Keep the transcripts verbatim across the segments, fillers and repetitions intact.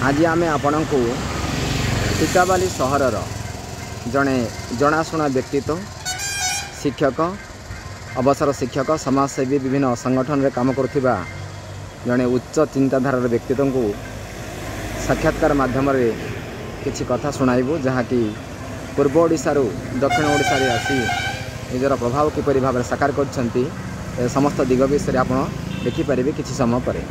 ଆଜି ଆମେ ଆପଣଙ୍କୁ ଟିକାବାଲି ସହରର ଜଣେ ଜଣାଶୁଣା ବ୍ୟକ୍ତିତ୍ୱ, ଶିକ୍ଷକ, ଅବସର ଶିକ୍ଷକ, ସମାଜସେବୀ, ବିଭିନ୍ନ ସଂଗଠନରେ କାମ କରୁଥିବା ଜଣେ ଉଚ୍ଚ ଚିନ୍ତାଧାରାର ବ୍ୟକ୍ତିତ୍ୱଙ୍କୁ ସାକ୍ଷାତକାର ମାଧ୍ୟମରେ କିଛି କଥା ଶୁଣାଇବୁ, ଯାହାକି ପୂର୍ବ ଓଡ଼ିଶାରୁ ଦକ୍ଷିଣ ଓଡ଼ିଶାରେ ଆସି ନିଜର ପ୍ରଭାବ କିପରି ଭାବରେ ସାକାର କରିଛନ୍ତି, ଏ ସମସ୍ତ ଦିଗ ବିଷୟରେ ଆପଣ ଦେଖିପାରିବେ କିଛି ସମୟ ପରେ।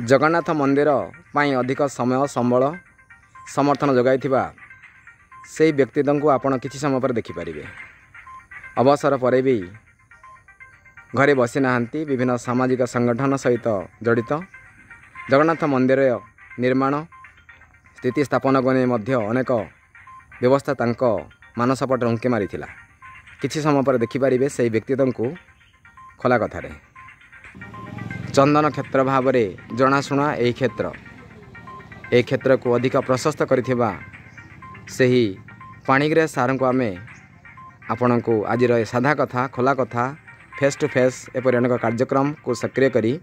ଜଗନ୍ନାଥ ମନ୍ଦିର ପାଇଁ ଅଧିକ ସମୟ, ସମ୍ବଳ, ସମର୍ଥନ ଯୋଗାଇଥିବା ସେଇ ବ୍ୟକ୍ତିତ୍ୱଙ୍କୁ ଆପଣ କିଛି ସମୟ ପରେ ଦେଖିପାରିବେ। ଅବସର ପରେ ବି ଘରେ ବସିନାହାନ୍ତି, ବିଭିନ୍ନ ସାମାଜିକ ସଂଗଠନ ସହିତ ଜଡ଼ିତ। ଜଗନ୍ନାଥ ମନ୍ଦିର ନିର୍ମାଣ ସ୍ଥିତି ସ୍ଥାପନକୁ ନେଇ ମଧ୍ୟ ଅନେକ ବ୍ୟବସ୍ଥା ତାଙ୍କ ମାନସପଟରେ ଉଙ୍କି ମାରିଥିଲା। କିଛି ସମୟ ପରେ ଦେଖିପାରିବେ ସେଇ ବ୍ୟକ୍ତିତ୍ୱଙ୍କୁ ଖୋଲା କଥାରେ। ଚନ୍ଦନ କ୍ଷେତ୍ର ଭାବରେ ଜଣାଶୁଣା ଏହି କ୍ଷେତ୍ର, ଏହି କ୍ଷେତ୍ରକୁ ଅଧିକ ପ୍ରଶସ୍ତ କରିଥିବା ସେହି ପାଣିଗ୍ରାହୀ ସାର୍ଙ୍କୁ ଆମେ ଆପଣଙ୍କୁ ଆଜିର ଏ ସାଧା କଥା, ଖୋଲା କଥା, ଫେସ୍ ଟୁ ଫେସ୍ ଏପରି ଅନେକ କାର୍ଯ୍ୟକ୍ରମକୁ ସକ୍ରିୟ କରି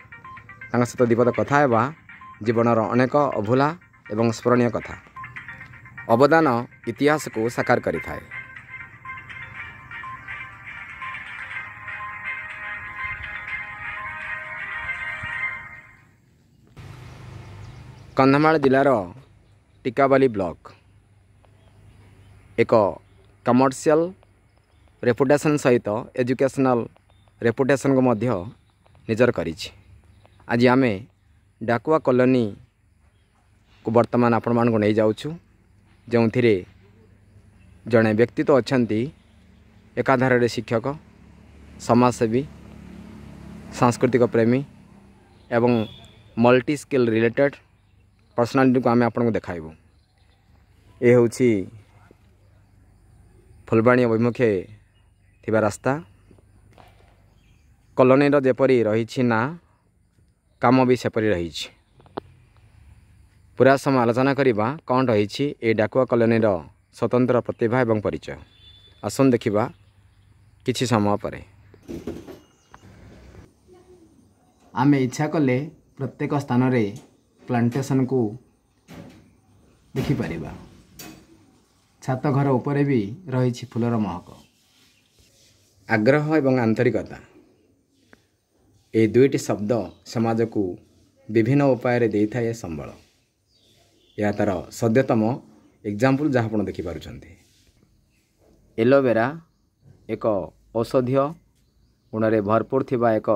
ତାଙ୍କ ସହିତ ଦ୍ୱିପଦ କଥା ହେବା, ଜୀବନର ଅନେକ ଅଭୁଲା ଏବଂ ସ୍ମରଣୀୟ କଥା। ଅବଦାନ ଇତିହାସକୁ ସାକାର କରିଥାଏ। କନ୍ଧମାଳ ଜିଲ୍ଲାର ଟିକାବାଲି ବ୍ଲକ ଏକ କମର୍ସିଆଲ ରେପୁଟେସନ୍ ସହିତ ଏଜୁକେସନାଲ୍ ରେପୁଟେସନ୍କୁ ମଧ୍ୟ ନିଜର କରିଛି। ଆଜି ଆମେ ଡାକୁଆ କଲୋନୀକୁ ବର୍ତ୍ତମାନ ଆପଣମାନଙ୍କୁ ନେଇଯାଉଛୁ, ଯେଉଁଥିରେ ଜଣେ ବ୍ୟକ୍ତିତ୍ୱ ଅଛନ୍ତି, ଏକାଧାରରେ ଶିକ୍ଷକ, ସମାଜସେବୀ, ସାଂସ୍କୃତିକ ପ୍ରେମୀ ଏବଂ ମଲ୍ଟି ସ୍କିଲ୍ ରିଲେଟେଡ଼୍ ପର୍ସନାଲିଟିକୁ ଆମେ ଆପଣଙ୍କୁ ଦେଖାଇବୁ। ଏ ହେଉଛି ଫୁଲବାଣୀ ଅଭିମୁଖେ ଥିବା ରାସ୍ତା। କଲୋନୀର ଯେପରି ରହିଛି ନା, କାମ ବି ସେପରି ରହିଛି। ପୁରା ସମୟ ଆଲୋଚନା କରିବା କ'ଣ ରହିଛି ଏ ଡାକୁଆ କଲୋନୀର ସ୍ୱତନ୍ତ୍ର ପ୍ରତିଭା ଏବଂ ପରିଚୟ। ଆସନ୍ତୁ ଦେଖିବା କିଛି ସମୟ ପରେ। ଆମେ ଇଚ୍ଛା କଲେ ପ୍ରତ୍ୟେକ ସ୍ଥାନରେ ପ୍ଲାଣ୍ଟେସନକୁ ଦେଖିପାରିବା। ଛାତ ଘର ଉପରେ ବି ରହିଛି ଫୁଲର ମହକ। ଆଗ୍ରହ ଏବଂ ଆନ୍ତରିକତା, ଏହି ଦୁଇଟି ଶବ୍ଦ ସମାଜକୁ ବିଭିନ୍ନ ଉପାୟରେ ଦେଇଥାଏ ସମ୍ବଳ। ଏହା ତା'ର ସଦ୍ୟତମ ଏକ୍ଜାମ୍ପଲ୍, ଯାହା ଆପଣ ଦେଖିପାରୁଛନ୍ତି। ଏଲୋଭେରା ଏକ ଔଷଧୀୟ ଗୁଣରେ ଭରପୁର ଥିବା ଏକ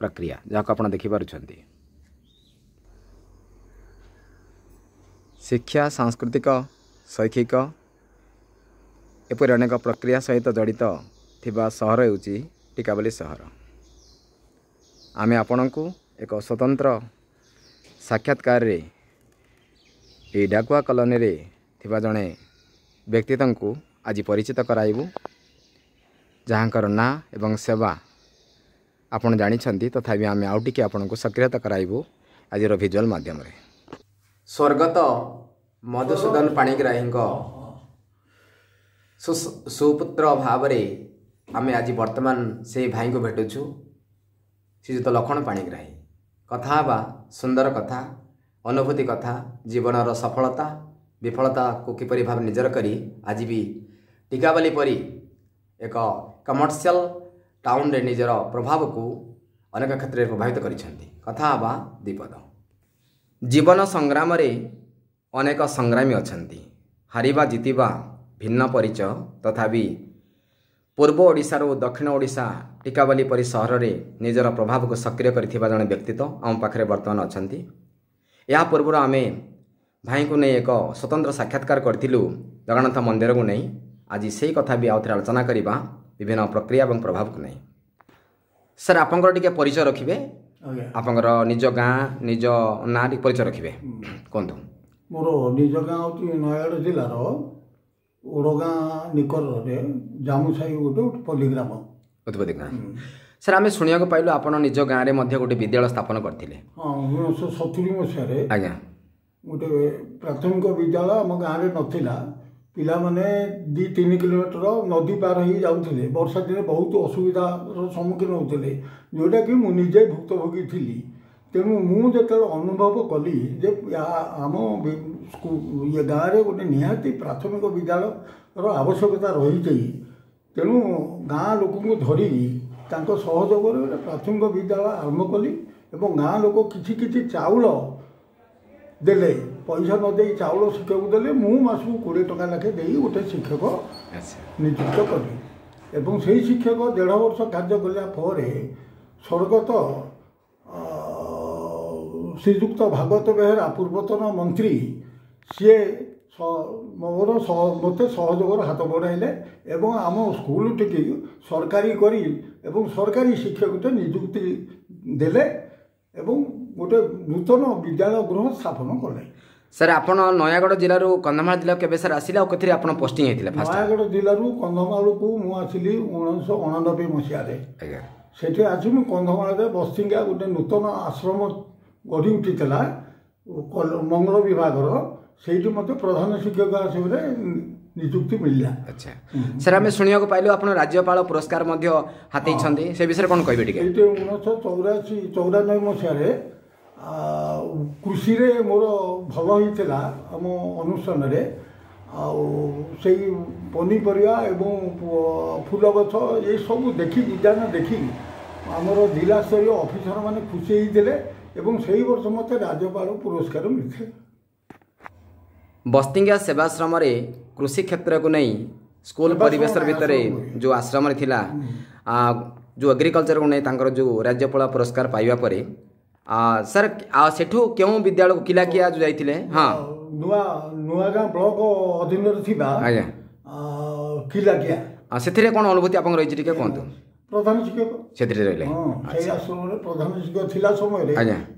ପ୍ରକ୍ରିୟା, ଯାହାକୁ ଆପଣ ଦେଖିପାରୁଛନ୍ତି। ଶିକ୍ଷା, ସାଂସ୍କୃତିକ, ଶୈକ୍ଷିକ ଏପରି ଅନେକ ପ୍ରକ୍ରିୟା ସହିତ ଜଡ଼ିତ ଥିବା ସହର ହେଉଛି ଟିକାବାଲି ସହର। ଆମେ ଆପଣଙ୍କୁ ଏକ ସ୍ୱତନ୍ତ୍ର ସାକ୍ଷାତକାରରେ ଏହି ଡାକୁଆ କଲୋନୀରେ ଥିବା ଜଣେ ବ୍ୟକ୍ତିତ୍ୱଙ୍କୁ ଆଜି ପରିଚିତ କରାଇବୁ, ଯାହାଙ୍କର ନାଁ ଏବଂ ସେବା ଆପଣ ଜାଣିଛନ୍ତି, ତଥାପି ଆମେ ଆଉ ଟିକେ ଆପଣଙ୍କୁ ସକ୍ରିୟତା କରାଇବୁ ଆଜିର ଭିଜୁଆଲ୍ ମାଧ୍ୟମରେ। ସ୍ୱର୍ଗତ ମଧୁସୂଦନ ପାଣିଗ୍ରାହୀଙ୍କ ସୁପୁତ୍ର ଭାବରେ ଆମେ ଆଜି ବର୍ତ୍ତମାନ ସେଇ ଭାଇଙ୍କୁ ଭେଟୁଛୁ, ଶ୍ରୀଯୁକ୍ତ ଲକ୍ଷ୍ମଣ ପାଣିଗ୍ରାହୀ। କଥା ହେବା ସୁନ୍ଦର କଥା, ଅନୁଭୂତି କଥା, ଜୀବନର ସଫଳତା ବିଫଳତାକୁ କିପରି ଭାବେ ନିଜର କରି ଆଜି ବି ଟିକାବାଲି ପରି ଏକ କମର୍ସିଆଲ ଟାଉନରେ ନିଜର ପ୍ରଭାବକୁ ଅନେକ କ୍ଷେତ୍ରରେ ପ୍ରଭାବିତ କରିଛନ୍ତି। କଥା ହେବା ଦ୍ୱିପଦ। ଜୀବନ ସଂଗ୍ରାମରେ ଅନେକ ସଂଗ୍ରାମୀ ଅଛନ୍ତି, ହାରିବା ଜିତିବା ଭିନ୍ନ ପରିଚୟ, ତଥାପି ପୂର୍ବ ଓଡ଼ିଶାରୁ ଦକ୍ଷିଣ ଓଡ଼ିଶା ଟିକାବାଲି ପରି ସହରରେ ନିଜର ପ୍ରଭାବକୁ ସକ୍ରିୟ କରିଥିବା ଜଣେ ବ୍ୟକ୍ତିତ୍ୱ ଆମ ପାଖରେ ବର୍ତ୍ତମାନ ଅଛନ୍ତି। ଏହା ପୂର୍ବରୁ ଆମେ ଭାଇଙ୍କୁ ନେଇ ଏକ ସ୍ୱତନ୍ତ୍ର ସାକ୍ଷାତକାର କରିଥିଲୁ ଜଗନ୍ନାଥ ମନ୍ଦିରକୁ ନେଇ। ଆଜି ସେଇ କଥା ବି ଆଉଥରେ ଆଲୋଚନା କରିବା ବିଭିନ୍ନ ପ୍ରକ୍ରିୟା ଏବଂ ପ୍ରଭାବକୁ ନେଇ। ସାର୍, ଆପଣଙ୍କର ଟିକେ ପରିଚୟ ରଖିବେ, ଆପଣଙ୍କର ନିଜ ଗାଁ, ନିଜ ନାଁ ଟିକେ ପରିଚୟ ରଖିବେ, କୁହନ୍ତୁ। ମୋର ନିଜ ଗାଁ ହେଉଛି ନୟାଗଡ଼ ଜିଲ୍ଲାର ଓଡ଼ଗାଁ ନିକଟରେ ଜାମୁସାହି, ଗୋଟେ ପଲ୍ଲୀ ଗ୍ରାମ। ଉତ୍ପତ୍ତି ଗ୍ରାମ। ସାର୍, ଆମେ ଶୁଣିବାକୁ ପାଇଲୁ ଆପଣ ନିଜ ଗାଁରେ ମଧ୍ୟ ଗୋଟେ ବିଦ୍ୟାଳୟ ସ୍ଥାପନ କରିଥିଲେ। ହଁ, ଉଣେଇଶହ ସତୁରି ମସିହାରେ ଆଜ୍ଞା ଗୋଟେ ପ୍ରାଥମିକ ବିଦ୍ୟାଳୟ ଆମ ଗାଁରେ ନଥିଲା। ପିଲାମାନେ ଦୁଇ ତିନି କିଲୋମିଟର ନଦୀ ପାର ହେଇ ଯାଉଥିଲେ। ବର୍ଷା ଦିନେ ବହୁତ ଅସୁବିଧାର ସମ୍ମୁଖୀନ ହେଉଥିଲେ, ଯେଉଁଟାକି ମୁଁ ନିଜେ ଭୁକ୍ତଭୋଗୀ ଥିଲି। ତେଣୁ ମୁଁ ଯେତେବେଳେ ଅନୁଭବ କଲି ଯେ ଆମ ଇଏ ଗାଁରେ ଗୋଟେ ନିହାତି ପ୍ରାଥମିକ ବିଦ୍ୟାଳୟର ଆବଶ୍ୟକତା ରହିଛି, ତେଣୁ ଗାଁ ଲୋକଙ୍କୁ ଧରି ତାଙ୍କ ସହଯୋଗରେ ଗୋଟେ ପ୍ରାଥମିକ ବିଦ୍ୟାଳୟ ଆରମ୍ଭ କଲି ଏବଂ ଗାଁ ଲୋକ କିଛି କିଛି ଚାଉଳ ଦେଲେ, ପଇସା ନ ଦେଇ ଚାଉଳ ଶିକ୍ଷକକୁ ଦେଲେ। ମୁଁ ମାସକୁ କୋଡ଼ିଏ ଟଙ୍କା ଲେଖାଏଁ ଦେଇ ଗୋଟେ ଶିକ୍ଷକ ନିଯୁକ୍ତ କଲି ଏବଂ ସେଇ ଶିକ୍ଷକ ଦେଢ଼ ବର୍ଷ କାର୍ଯ୍ୟ କଲା ପରେ ସ୍ୱର୍ଗତ ଶ୍ରୀଯୁକ୍ତ ଭାଗବତ ବେହେରା, ପୂର୍ବତନ ମନ୍ତ୍ରୀ, ସିଏ ମୋର ମୋତେ ସହଯୋଗର ହାତ ବଢ଼ାଇଲେ ଏବଂ ଆମ ସ୍କୁଲଟିକି ସରକାରୀ କରି ଏବଂ ସରକାରୀ ଶିକ୍ଷକଟେ ନିଯୁକ୍ତି ଦେଲେ ଏବଂ ଗୋଟେ ନୂତନ ବିଦ୍ୟାଳୟ ଗୃହ ସ୍ଥାପନ କଲେ। ସାର୍, ଆପଣ ନୟାଗଡ଼ ଜିଲ୍ଲାରୁ କନ୍ଧମାଳ ଜିଲ୍ଲାକୁ କେବେ ସାର୍ ଆସିଲେ ଆଉ କେଥିରେ ଆପଣ ପୋଷ୍ଟିଂ ହେଇଥିଲେ? ନୟାଗଡ଼ ଜିଲ୍ଲାରୁ କନ୍ଧମାଳକୁ ମୁଁ ଆସିଲି ଉଣେଇଶହ ଅଣାନବେ ମସିହାରେ। ଆଜ୍ଞା। ସେଠି ଆସି ମୁଁ କନ୍ଧମାଳରେ ବସ୍ତିଙ୍ଗା ଗୋଟେ ନୂତନ ଆଶ୍ରମ ଗଢ଼ି ଉଠିଥିଲା ମଙ୍ଗଳ ବିଭାଗର, ସେଇଠି ମୋତେ ପ୍ରଧାନ ଶିକ୍ଷକ ହିସାବରେ ନିଯୁକ୍ତି ମିଳିଲା। ଆଚ୍ଛା ସାର୍, ଆମେ ଶୁଣିବାକୁ ପାଇଲୁ ଆପଣ ରାଜ୍ୟପାଳ ପୁରସ୍କାର ମଧ୍ୟ ହାତେଇଛନ୍ତି, ସେ ବିଷୟରେ କ'ଣ କହିବେ ଟିକେ? ଏଇଠି ଉଣେଇଶହ ଚଉରାଅଶୀ ଚଉରାନବେ ମସିହାରେ କୃଷିରେ ମୋର ଭଲ ହେଇଥିଲା ଆମ ଅନୁଷ୍ଠାନରେ, ଆଉ ସେଇ ପନିପରିବା ଏବଂ ଫୁଲ ଗଛ ଏସବୁ ଦେଖି, ଉଦ୍ୟାନ ଦେଖି ଆମର ଜିଲ୍ଲାସ୍ତରୀୟ ଅଫିସରମାନେ ଖୁସି ହେଇଥିଲେ ଏବଂ ସେଇ ବର୍ଷ ମୋତେ ରାଜ୍ୟପାଳ ପୁରସ୍କାର ମିଳିଥିଲା। ବସ୍ତିଙ୍ଗା ସେବାଶ୍ରମରେ କୃଷି କ୍ଷେତ୍ରକୁ ନେଇ ସ୍କୁଲ ପରିବେଶ ଭିତରେ ଯେଉଁ ଆଶ୍ରମରେ ଥିଲା, ଯେଉଁ ଏଗ୍ରିକଲଚରକୁ ନେଇ ତାଙ୍କର ଯେଉଁ ରାଜ୍ୟପାଳ ପୁରସ୍କାର ପାଇବା ପରେ ସାର୍, ସେଠୁ କେଉଁ ବିଦ୍ୟାଳୟକୁ କିଲାକିଆ ଯେଉଁ ଯାଇଥିଲେ? ହଁ, ନୂଆ ନୂଆଗାଁ ବ୍ଲକ ଅଧୀନରେ ଥିବା ଆଜ୍ଞା କିଲାକିଆ, ସେଥିରେ କ'ଣ ଅନୁଭୂତି ଆପଣଙ୍କର ରହିଛି ଟିକେ କୁହନ୍ତୁ? ପ୍ରଧାନ ଶିକ୍ଷକ ସେଥିରେ ରହିଲେ। ହଁ, ସେଇ ଆଶ୍ରମରେ ପ୍ରଧାନ ଶିକ୍ଷକ ଥିଲା ସମୟରେ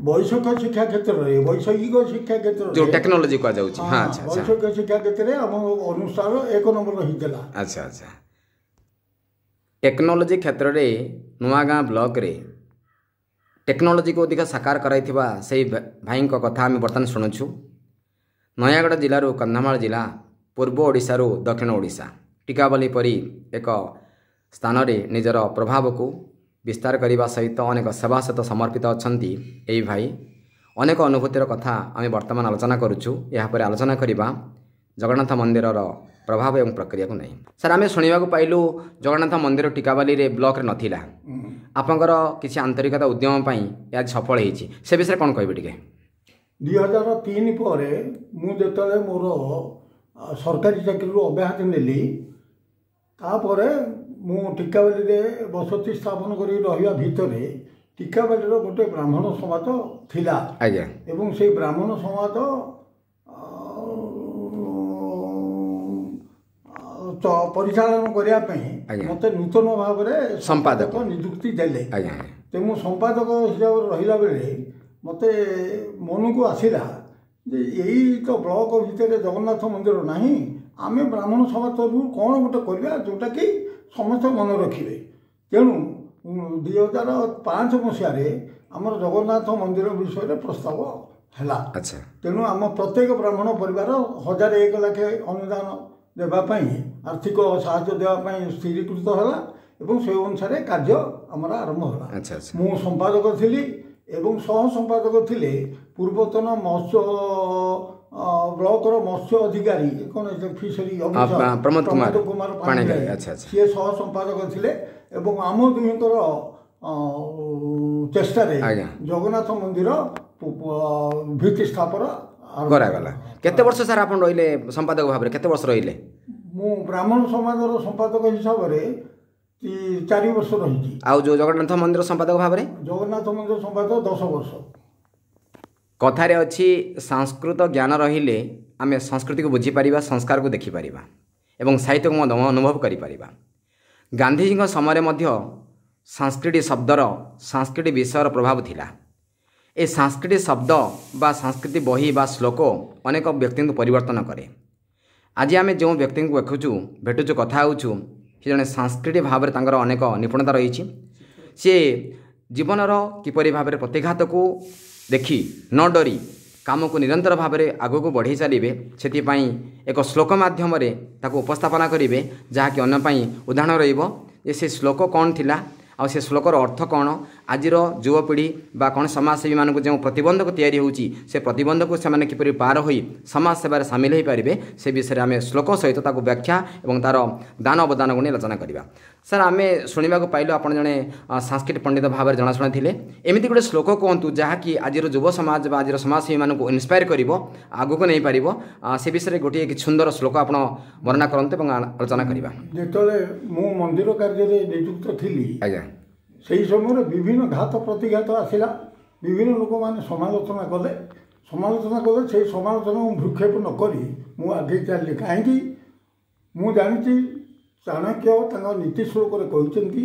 ବୈଷୟିକ ଶିକ୍ଷା କ୍ଷେତ୍ରରେ, ବୈଷୟିକ ଶିକ୍ଷା କ୍ଷେତ୍ରରେ ଯେଉଁ ଟେକ୍ନୋଲୋଜି କୁହାଯାଉଛି, ହଁ, ଆଚ୍ଛା, ବୈଷୟିକ ଶିକ୍ଷା କ୍ଷେତ୍ରରେ ଆମ ଅନୁଷ୍ଠାନ ଏକ ନମ୍ବର ରହିଥିଲା। ଆଚ୍ଛା ଆଚ୍ଛା, ଟେକ୍ନୋଲୋଜି କ୍ଷେତ୍ରରେ ନୂଆଗାଁ ବ୍ଲକରେ ଟେକ୍ନୋଲୋଜିକୁ ଅଧିକ ସାକାର କରାଇଥିବା ସେଇ ଭାଇଙ୍କ କଥା ଆମେ ବର୍ତ୍ତମାନ ଶୁଣୁଛୁ। ନୟାଗଡ଼ ଜିଲ୍ଲାରୁ କନ୍ଧମାଳ ଜିଲ୍ଲା, ପୂର୍ବ ଓଡ଼ିଶାରୁ ଦକ୍ଷିଣ ଓଡ଼ିଶା, ଟିକାବାଲି ପରି ଏକ ସ୍ଥାନରେ ନିଜର ପ୍ରଭାବକୁ ବିସ୍ତାର କରିବା ସହିତ ଅନେକ ସେବା ସହିତ ସମର୍ପିତ ଅଛନ୍ତି ଏହି ଭାଇ। ଅନେକ ଅନୁଭୂତିର କଥା ଆମେ ବର୍ତ୍ତମାନ ଆଲୋଚନା କରୁଛୁ। ଏହାପରେ ଆଲୋଚନା କରିବା ଜଗନ୍ନାଥ ମନ୍ଦିରର ପ୍ରଭାବ ଏବଂ ପ୍ରକ୍ରିୟାକୁ ନେଇ। ସାର୍, ଆମେ ଶୁଣିବାକୁ ପାଇଲୁ ଜଗନ୍ନାଥ ମନ୍ଦିର ଟିକାବାଲିରେ ବ୍ଲକରେ ନଥିଲା, ଆପଣଙ୍କର କିଛି ଆନ୍ତରିକତା ଉଦ୍ୟମ ପାଇଁ ଏହା ସଫଳ ହେଇଛି, ସେ ବିଷୟରେ କ'ଣ କହିବେ ଟିକେ? ଦୁଇ ହଜାର ତିନି ପରେ ମୁଁ ଯେତେବେଳେ ମୋର ସରକାରୀ ଚାକିରିରୁ ଅବ୍ୟାହତି ନେଲି, ତାପରେ ମୁଁ ଟିକାବାଲିରେ ବସତି ସ୍ଥାପନ କରି ରହିବା ଭିତରେ ଟିକାବାଲିର ଗୋଟେ ବ୍ରାହ୍ମଣ ସମାଜ ଥିଲା। ଆଜ୍ଞା। ଏବଂ ସେଇ ବ୍ରାହ୍ମଣ ସମାଜ ପରିଚାଳନା କରିବା ପାଇଁ ମୋତେ ନୂତନ ଭାବରେ ସମ୍ପାଦକ ନିଯୁକ୍ତି ଦେଲେ। ଆଜ୍ଞା। ତେଣୁ ମୁଁ ସମ୍ପାଦକ ହିସାବରେ ରହିଲା ବେଳେ ମୋତେ ମନକୁ ଆସିଲା ଯେ ଏଇ ତ ବ୍ଲକ ଭିତରେ ଜଗନ୍ନାଥ ମନ୍ଦିର ନାହିଁ, ଆମେ ବ୍ରାହ୍ମଣ ସମାଜ ତରଫରୁ କ'ଣ ଗୋଟେ କରିବା ଯେଉଁଟାକି ସମସ୍ତେ ମନେ ରଖିବେ। ତେଣୁ ଦୁଇ ହଜାର ପାଞ୍ଚ ମସିହାରେ ଆମର ଜଗନ୍ନାଥ ମନ୍ଦିର ବିଷୟରେ ପ୍ରସ୍ତାବ ହେଲା। ଆଚ୍ଛା। ତେଣୁ ଆମ ପ୍ରତ୍ୟେକ ବ୍ରାହ୍ମଣ ପରିବାର ହଜାର ଏକ ଲେଖାଏଁ ଅନୁଦାନ ଦେବା ପାଇଁ, ଆର୍ଥିକ ସାହାଯ୍ୟ ଦେବା ପାଇଁ ସ୍ଥିରୀକୃତ ହେଲା ଏବଂ ସେ ଅନୁସାରେ କାର୍ଯ୍ୟ ଆମର ଆରମ୍ଭ ହେଲା। ଆଚ୍ଛା ଆଚ୍ଛା। ମୁଁ ସମ୍ପାଦକ ଥିଲି ଏବଂ ସହ ସମ୍ପାଦକ ଥିଲେ ପୂର୍ବତନ ମତ୍ସ୍ୟ ବ୍ଲକର ମତ୍ସ୍ୟ ଅଧିକାରୀ, କ'ଣ ଫିସରୀ ଅଫିସର ପ୍ରମୋଦ କୁମାର କୁମାର ପାଣିଗ୍ରାହୀ, ସିଏ ସହ ସମ୍ପାଦକ ଥିଲେ ଏବଂ ଆମ ଦୁହିଁଙ୍କର ଚେଷ୍ଟାରେ ଜଗନ୍ନାଥ ମନ୍ଦିର ଭିତ୍ତି ସ୍ଥାପନ କରାଗଲା। କେତେ ବର୍ଷ ସାର୍ ଆପଣ ରହିଲେ ସମ୍ପାଦକ ଭାବରେ, କେତେ ବର୍ଷ ରହିଲେ? ମୁଁ ବ୍ରାହ୍ମଣ ସମାଜର ସମ୍ପାଦକ ହିସାବରେ ଚାରି ବର୍ଷ ରହିଛି। ଆଉ ଯେଉଁ ଜଗନ୍ନାଥ ମନ୍ଦିର ସମ୍ପାଦକ ଭାବରେ? ଜଗନ୍ନାଥ ମନ୍ଦିର ସମ୍ପାଦକ ଦଶ ବର୍ଷ। କଥାରେ ଅଛି, ସଂସ୍କୃତ ଜ୍ଞାନ ରହିଲେ ଆମେ ସଂସ୍କୃତିକୁ ବୁଝିପାରିବା, ସଂସ୍କାରକୁ ଦେଖିପାରିବା ଏବଂ ସାହିତ୍ୟକୁ ମଧ୍ୟ ଅନୁଭବ କରିପାରିବା। ଗାନ୍ଧିଜୀଙ୍କ ସମୟରେ ମଧ୍ୟ ସାଂସ୍କ୍ରିଟ ଶବ୍ଦର, ସାଂସ୍କ୍ରିଟ ବିଷୟର ପ୍ରଭାବ ଥିଲା। ଏ ସାଂସ୍କ୍ରିଟ ଶବ୍ଦ ବା ସାଂସ୍କ୍ରିଟ ବହି ବା ଶ୍ଲୋକ ଅନେକ ବ୍ୟକ୍ତିଙ୍କୁ ପରିବର୍ତ୍ତନ କରେ। ଆଜି ଆମେ ଯେଉଁ ବ୍ୟକ୍ତିଙ୍କୁ ଦେଖୁଛୁ, ଭେଟୁଛୁ, କଥା ହେଉଛୁ, ସେ ଜଣେ ସାଂସ୍କ୍ରିଟ ଭାବରେ ତାଙ୍କର ଅନେକ ନିପୁଣତା ରହିଛି। ସିଏ ଜୀବନର କିପରି ଭାବରେ ପ୍ରତିଘାତକୁ ଦେଖି ନ ଡରି କାମକୁ ନିରନ୍ତର ଭାବରେ ଆଗକୁ ବଢ଼େଇ ଚାଲିବେ, ସେଥିପାଇଁ ଏକ ଶ୍ଲୋକ ମାଧ୍ୟମରେ ତାକୁ ଉପସ୍ଥାପନା କରିବେ, ଯାହାକି ଅନ୍ୟ ପାଇଁ ଉଦାହରଣ ରହିବ ଯେ ସେ ଶ୍ଲୋକ କ'ଣ ଥିଲା ଆଉ ସେ ଶ୍ଲୋକର ଅର୍ଥ କ'ଣ, ଆଜିର ଯୁବପିଢ଼ି ବା କ'ଣ ସମାଜସେବୀମାନଙ୍କୁ ଯେଉଁ ପ୍ରତିବନ୍ଧକ ତିଆରି ହେଉଛି ସେ ପ୍ରତିବନ୍ଧକକୁ ସେମାନେ କିପରି ପାର ହୋଇ ସମାଜ ସେବାରେ ସାମିଲ ହୋଇପାରିବେ ସେ ବିଷୟରେ ଆମେ ଶ୍ଲୋକ ସହିତ ତାକୁ ବ୍ୟାଖ୍ୟା ଏବଂ ତା'ର ଦାନ ଅବଦାନକୁ ନେଇ ଆଲୋଚନା କରିବା। ସାର୍, ଆମେ ଶୁଣିବାକୁ ପାଇଲୁ ଆପଣ ଜଣେ ସାଂସ୍କ୍ରିଟ ପଣ୍ଡିତ ଭାବରେ ଜଣାଶୁଣା ଥିଲେ। ଏମିତି ଗୋଟେ ଶ୍ଲୋକ କୁହନ୍ତୁ ଯାହାକି ଆଜିର ଯୁବ ସମାଜ ବା ଆଜିର ସମାଜସେବୀମାନଙ୍କୁ ଇନ୍ସପାୟାର କରିବ, ଆଗକୁ ନେଇପାରିବ। ସେ ବିଷୟରେ ଗୋଟିଏ କିଛି ସୁନ୍ଦର ଶ୍ଲୋକ ଆପଣ ବର୍ଣ୍ଣନା କରନ୍ତୁ ଏବଂ ଆଲୋଚନା କରିବା। ଯେତେବେଳେ ମୁଁ ମନ୍ଦିର କାର୍ଯ୍ୟରେ ନିଯୁକ୍ତ ଥିଲି, ଆଜ୍ଞା, ସେହି ସମୟରେ ବିଭିନ୍ନ ଘାତ ପ୍ରତିଘାତ ଆସିଲା, ବିଭିନ୍ନ ଲୋକମାନେ ସମାଲୋଚନା କଲେ। ସମାଲୋଚନା କଲେ, ସେଇ ସମାଲୋଚନାକୁ ଭ୍ରୂକ୍ଷେପ ନ କରି ମୁଁ ଆଗେଇ ଚାଲିଲି। କାହିଁକି? ମୁଁ ଜାଣିଛି ଚାଣକ୍ୟ ତାଙ୍କ ନୀତି ଶ୍ଲୋକରେ କହିଛନ୍ତି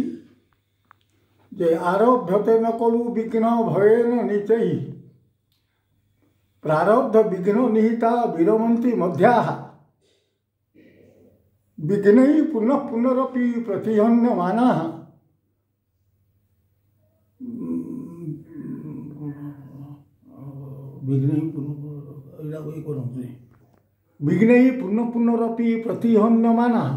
ଯେ ଆରଭ୍ୟତେ ନ କଲୁ ବିଘ୍ନ ଭୟେନ ନିଚୈ ପ୍ରାରବ୍ଧ ବିଘ୍ନ ନିହିତା ବିରମନ୍ତି ମଧ୍ୟାଃ ବିଘ୍ନୈ ପୁନଃ ପୁନରପି ପ୍ରତିହନ୍ୟମାନାଃ ବିଘ୍ନୈ ପୁନଃ ଏଇଟା ଇଏ କରନ୍ତୁ ବିଘ୍ନୈ ପୁନଃ ପୁନରପି ପ୍ରତିହନ୍ୟମାନାଃ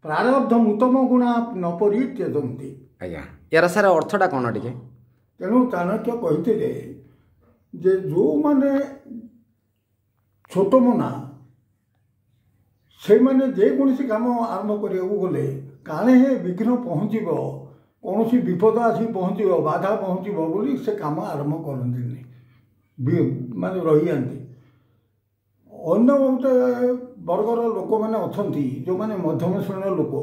ପ୍ରାରବ୍ଧ ଉତ୍ତମ ଗୁଣା ନ ପରିତ୍ୟଜନ୍ତି। ଆଜ୍ଞା, ୟାର ସାର୍ ଅର୍ଥଟା କ'ଣ ଟିକେ? ତେଣୁ ଚାଣକ୍ୟ କହିଥିଲେ ଯେ ଯେଉଁମାନେ ଛୋଟ ମନା ସେମାନେ ଯେକୌଣସି କାମ ଆରମ୍ଭ କରିବାକୁ ଗଲେ କାଳେ ହେ ବିଘ୍ନ ପହଞ୍ଚିବ, କୌଣସି ବିପଦ ଆସି ପହଞ୍ଚିବ, ବାଧା ପହଞ୍ଚିବ ବୋଲି ସେ କାମ ଆରମ୍ଭ କରନ୍ତିନି, ମାନେ ରହିଯାଆନ୍ତି। ଅନ୍ୟ ଗୋଟେ ବର୍ଗର ଲୋକମାନେ ଅଛନ୍ତି ଯେଉଁମାନେ ମଧ୍ୟମ ଶ୍ରେଣୀର ଲୋକ,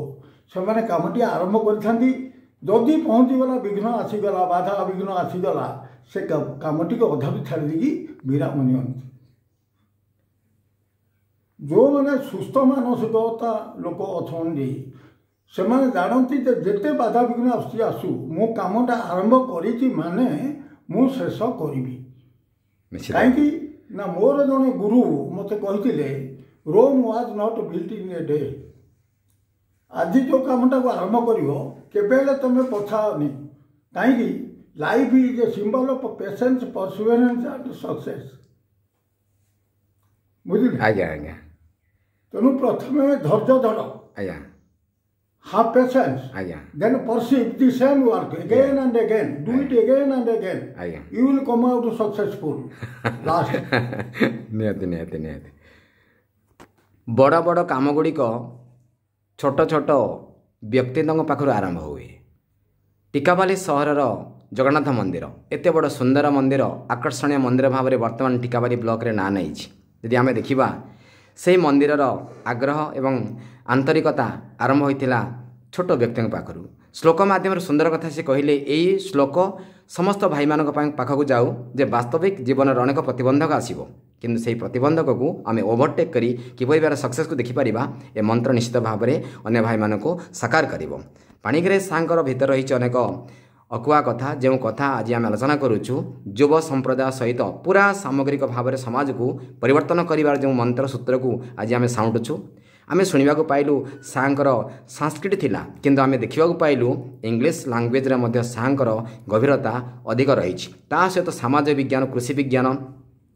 ସେମାନେ କାମଟି ଆରମ୍ଭ କରିଥାନ୍ତି, ଯଦି ପହଞ୍ଚିଗଲା ବିଘ୍ନ ଆସିଗଲା, ବାଧା ବିଘ୍ନ ଆସିଗଲା, ସେ କାମଟିକୁ ଅଧାରୁ ଛାଡ଼ି ଦେଇକି ବିରାମ ନିଅନ୍ତି। ଯେଉଁମାନେ ସୁସ୍ଥ ମାନସିକତା ଲୋକ ଅଛନ୍ତି ସେମାନେ ଜାଣନ୍ତି ଯେ ଯେତେ ବାଧାବିଘ୍ନ ଆସୁଛି ଆସୁ, ମୁଁ କାମଟା ଆରମ୍ଭ କରିଛି ମାନେ ମୁଁ ଶେଷ କରିବି। କାହିଁକି ନା ମୋର ଜଣେ ଗୁରୁ ମୋତେ କହିଥିଲେ, Rome was not built in a day. ଆଜି ଯେଉଁ କାମଟାକୁ ଆରମ୍ଭ କରିବ କେବେ ହେଲେ ତୁମେ ପଛାଅନି। କାହିଁକି? Life is a symbol of patience, perseverance and success. ବୁଝିଲେ? ଆଜ୍ଞା ଆଜ୍ଞା। ତେଣୁ ପ୍ରଥମେ ଧୈର୍ଯ୍ୟ ଧର, ଆଜ୍ଞା, have patience, ଆଜ୍ଞା, then perceive the same work again and again, do it again and again, ଆଜ୍ଞା, you will come out successful last. ନିହାତି ନିହାତି ନିହାତି। ବଡ଼ ବଡ଼ କାମ ଗୁଡ଼ିକ ଛୋଟ ଛୋଟ ବ୍ୟକ୍ତିଙ୍କ ପାଖରୁ ଆରମ୍ଭ ହୁଏ। ଟିକାବାଲି ସହରର ଜଗନ୍ନାଥ ମନ୍ଦିର ଏତେ ବଡ଼ ସୁନ୍ଦର ମନ୍ଦିର, ଆକର୍ଷଣୀୟ ମନ୍ଦିର ଭାବରେ ବର୍ତ୍ତମାନ ଟିକାବାଲି ବ୍ଲକରେ ନାଁ ନେଇଛି। ଯଦି ଆମେ ଦେଖିବା ସେହି ମନ୍ଦିରର ଆଗ୍ରହ ଏବଂ ଆନ୍ତରିକତା ଆରମ୍ଭ ହୋଇଥିଲା ଛୋଟ ବ୍ୟକ୍ତିଙ୍କ ପାଖରୁ। ଶ୍ଲୋକ ମାଧ୍ୟମରେ ସୁନ୍ଦର କଥା ସେ କହିଲେ। ଏଇ ଶ୍ଲୋକ ସମସ୍ତ ଭାଇମାନଙ୍କ ପାଇଁ ପାଖକୁ ଯାଉ ଯେ ବାସ୍ତବିକ ଜୀବନର ଅନେକ ପ୍ରତିବନ୍ଧକ ଆସିବ, କିନ୍ତୁ ସେହି ପ୍ରତିବନ୍ଧକକୁ ଆମେ ଓଭରଟେକ୍ କରି କିପରି ଭାବରେ ସକ୍ସେସ୍କୁ ଦେଖିପାରିବା, ଏ ମନ୍ତ୍ର ନିଶ୍ଚିତ ଭାବରେ ଅନ୍ୟ ଭାଇମାନଙ୍କୁ ସାକାର କରିବ। ପାଣିଗ୍ରାହୀ ସାର୍ଙ୍କର ଭିତରେ ରହିଛି ଅନେକ ଅକୁହା କଥା, ଯେଉଁ କଥା ଆଜି ଆମେ ଆଲୋଚନା କରୁଛୁ। ଯୁବ ସମ୍ପ୍ରଦାୟ ସହିତ ପୁରା ସାମଗ୍ରିକ ଭାବରେ ସମାଜକୁ ପରିବର୍ତ୍ତନ କରିବାର ଯେଉଁ ମନ୍ତ୍ର ସୂତ୍ରକୁ ଆଜି ଆମେ ସାଉଁଟୁଛୁ। ଆମେ ଶୁଣିବାକୁ ପାଇଲୁ ସାର୍ଙ୍କର ସାଂସ୍କ୍ରିଟ ଥିଲା, କିନ୍ତୁ ଆମେ ଦେଖିବାକୁ ପାଇଲୁ ଇଂଲିଶ ଲାଙ୍ଗୁଏଜରେ ମଧ୍ୟ ସାର୍ଙ୍କର ଗଭୀରତା ଅଧିକ ରହିଛି। ତା ସହିତ ସମାଜ ବିଜ୍ଞାନ, କୃଷି ବିଜ୍ଞାନ,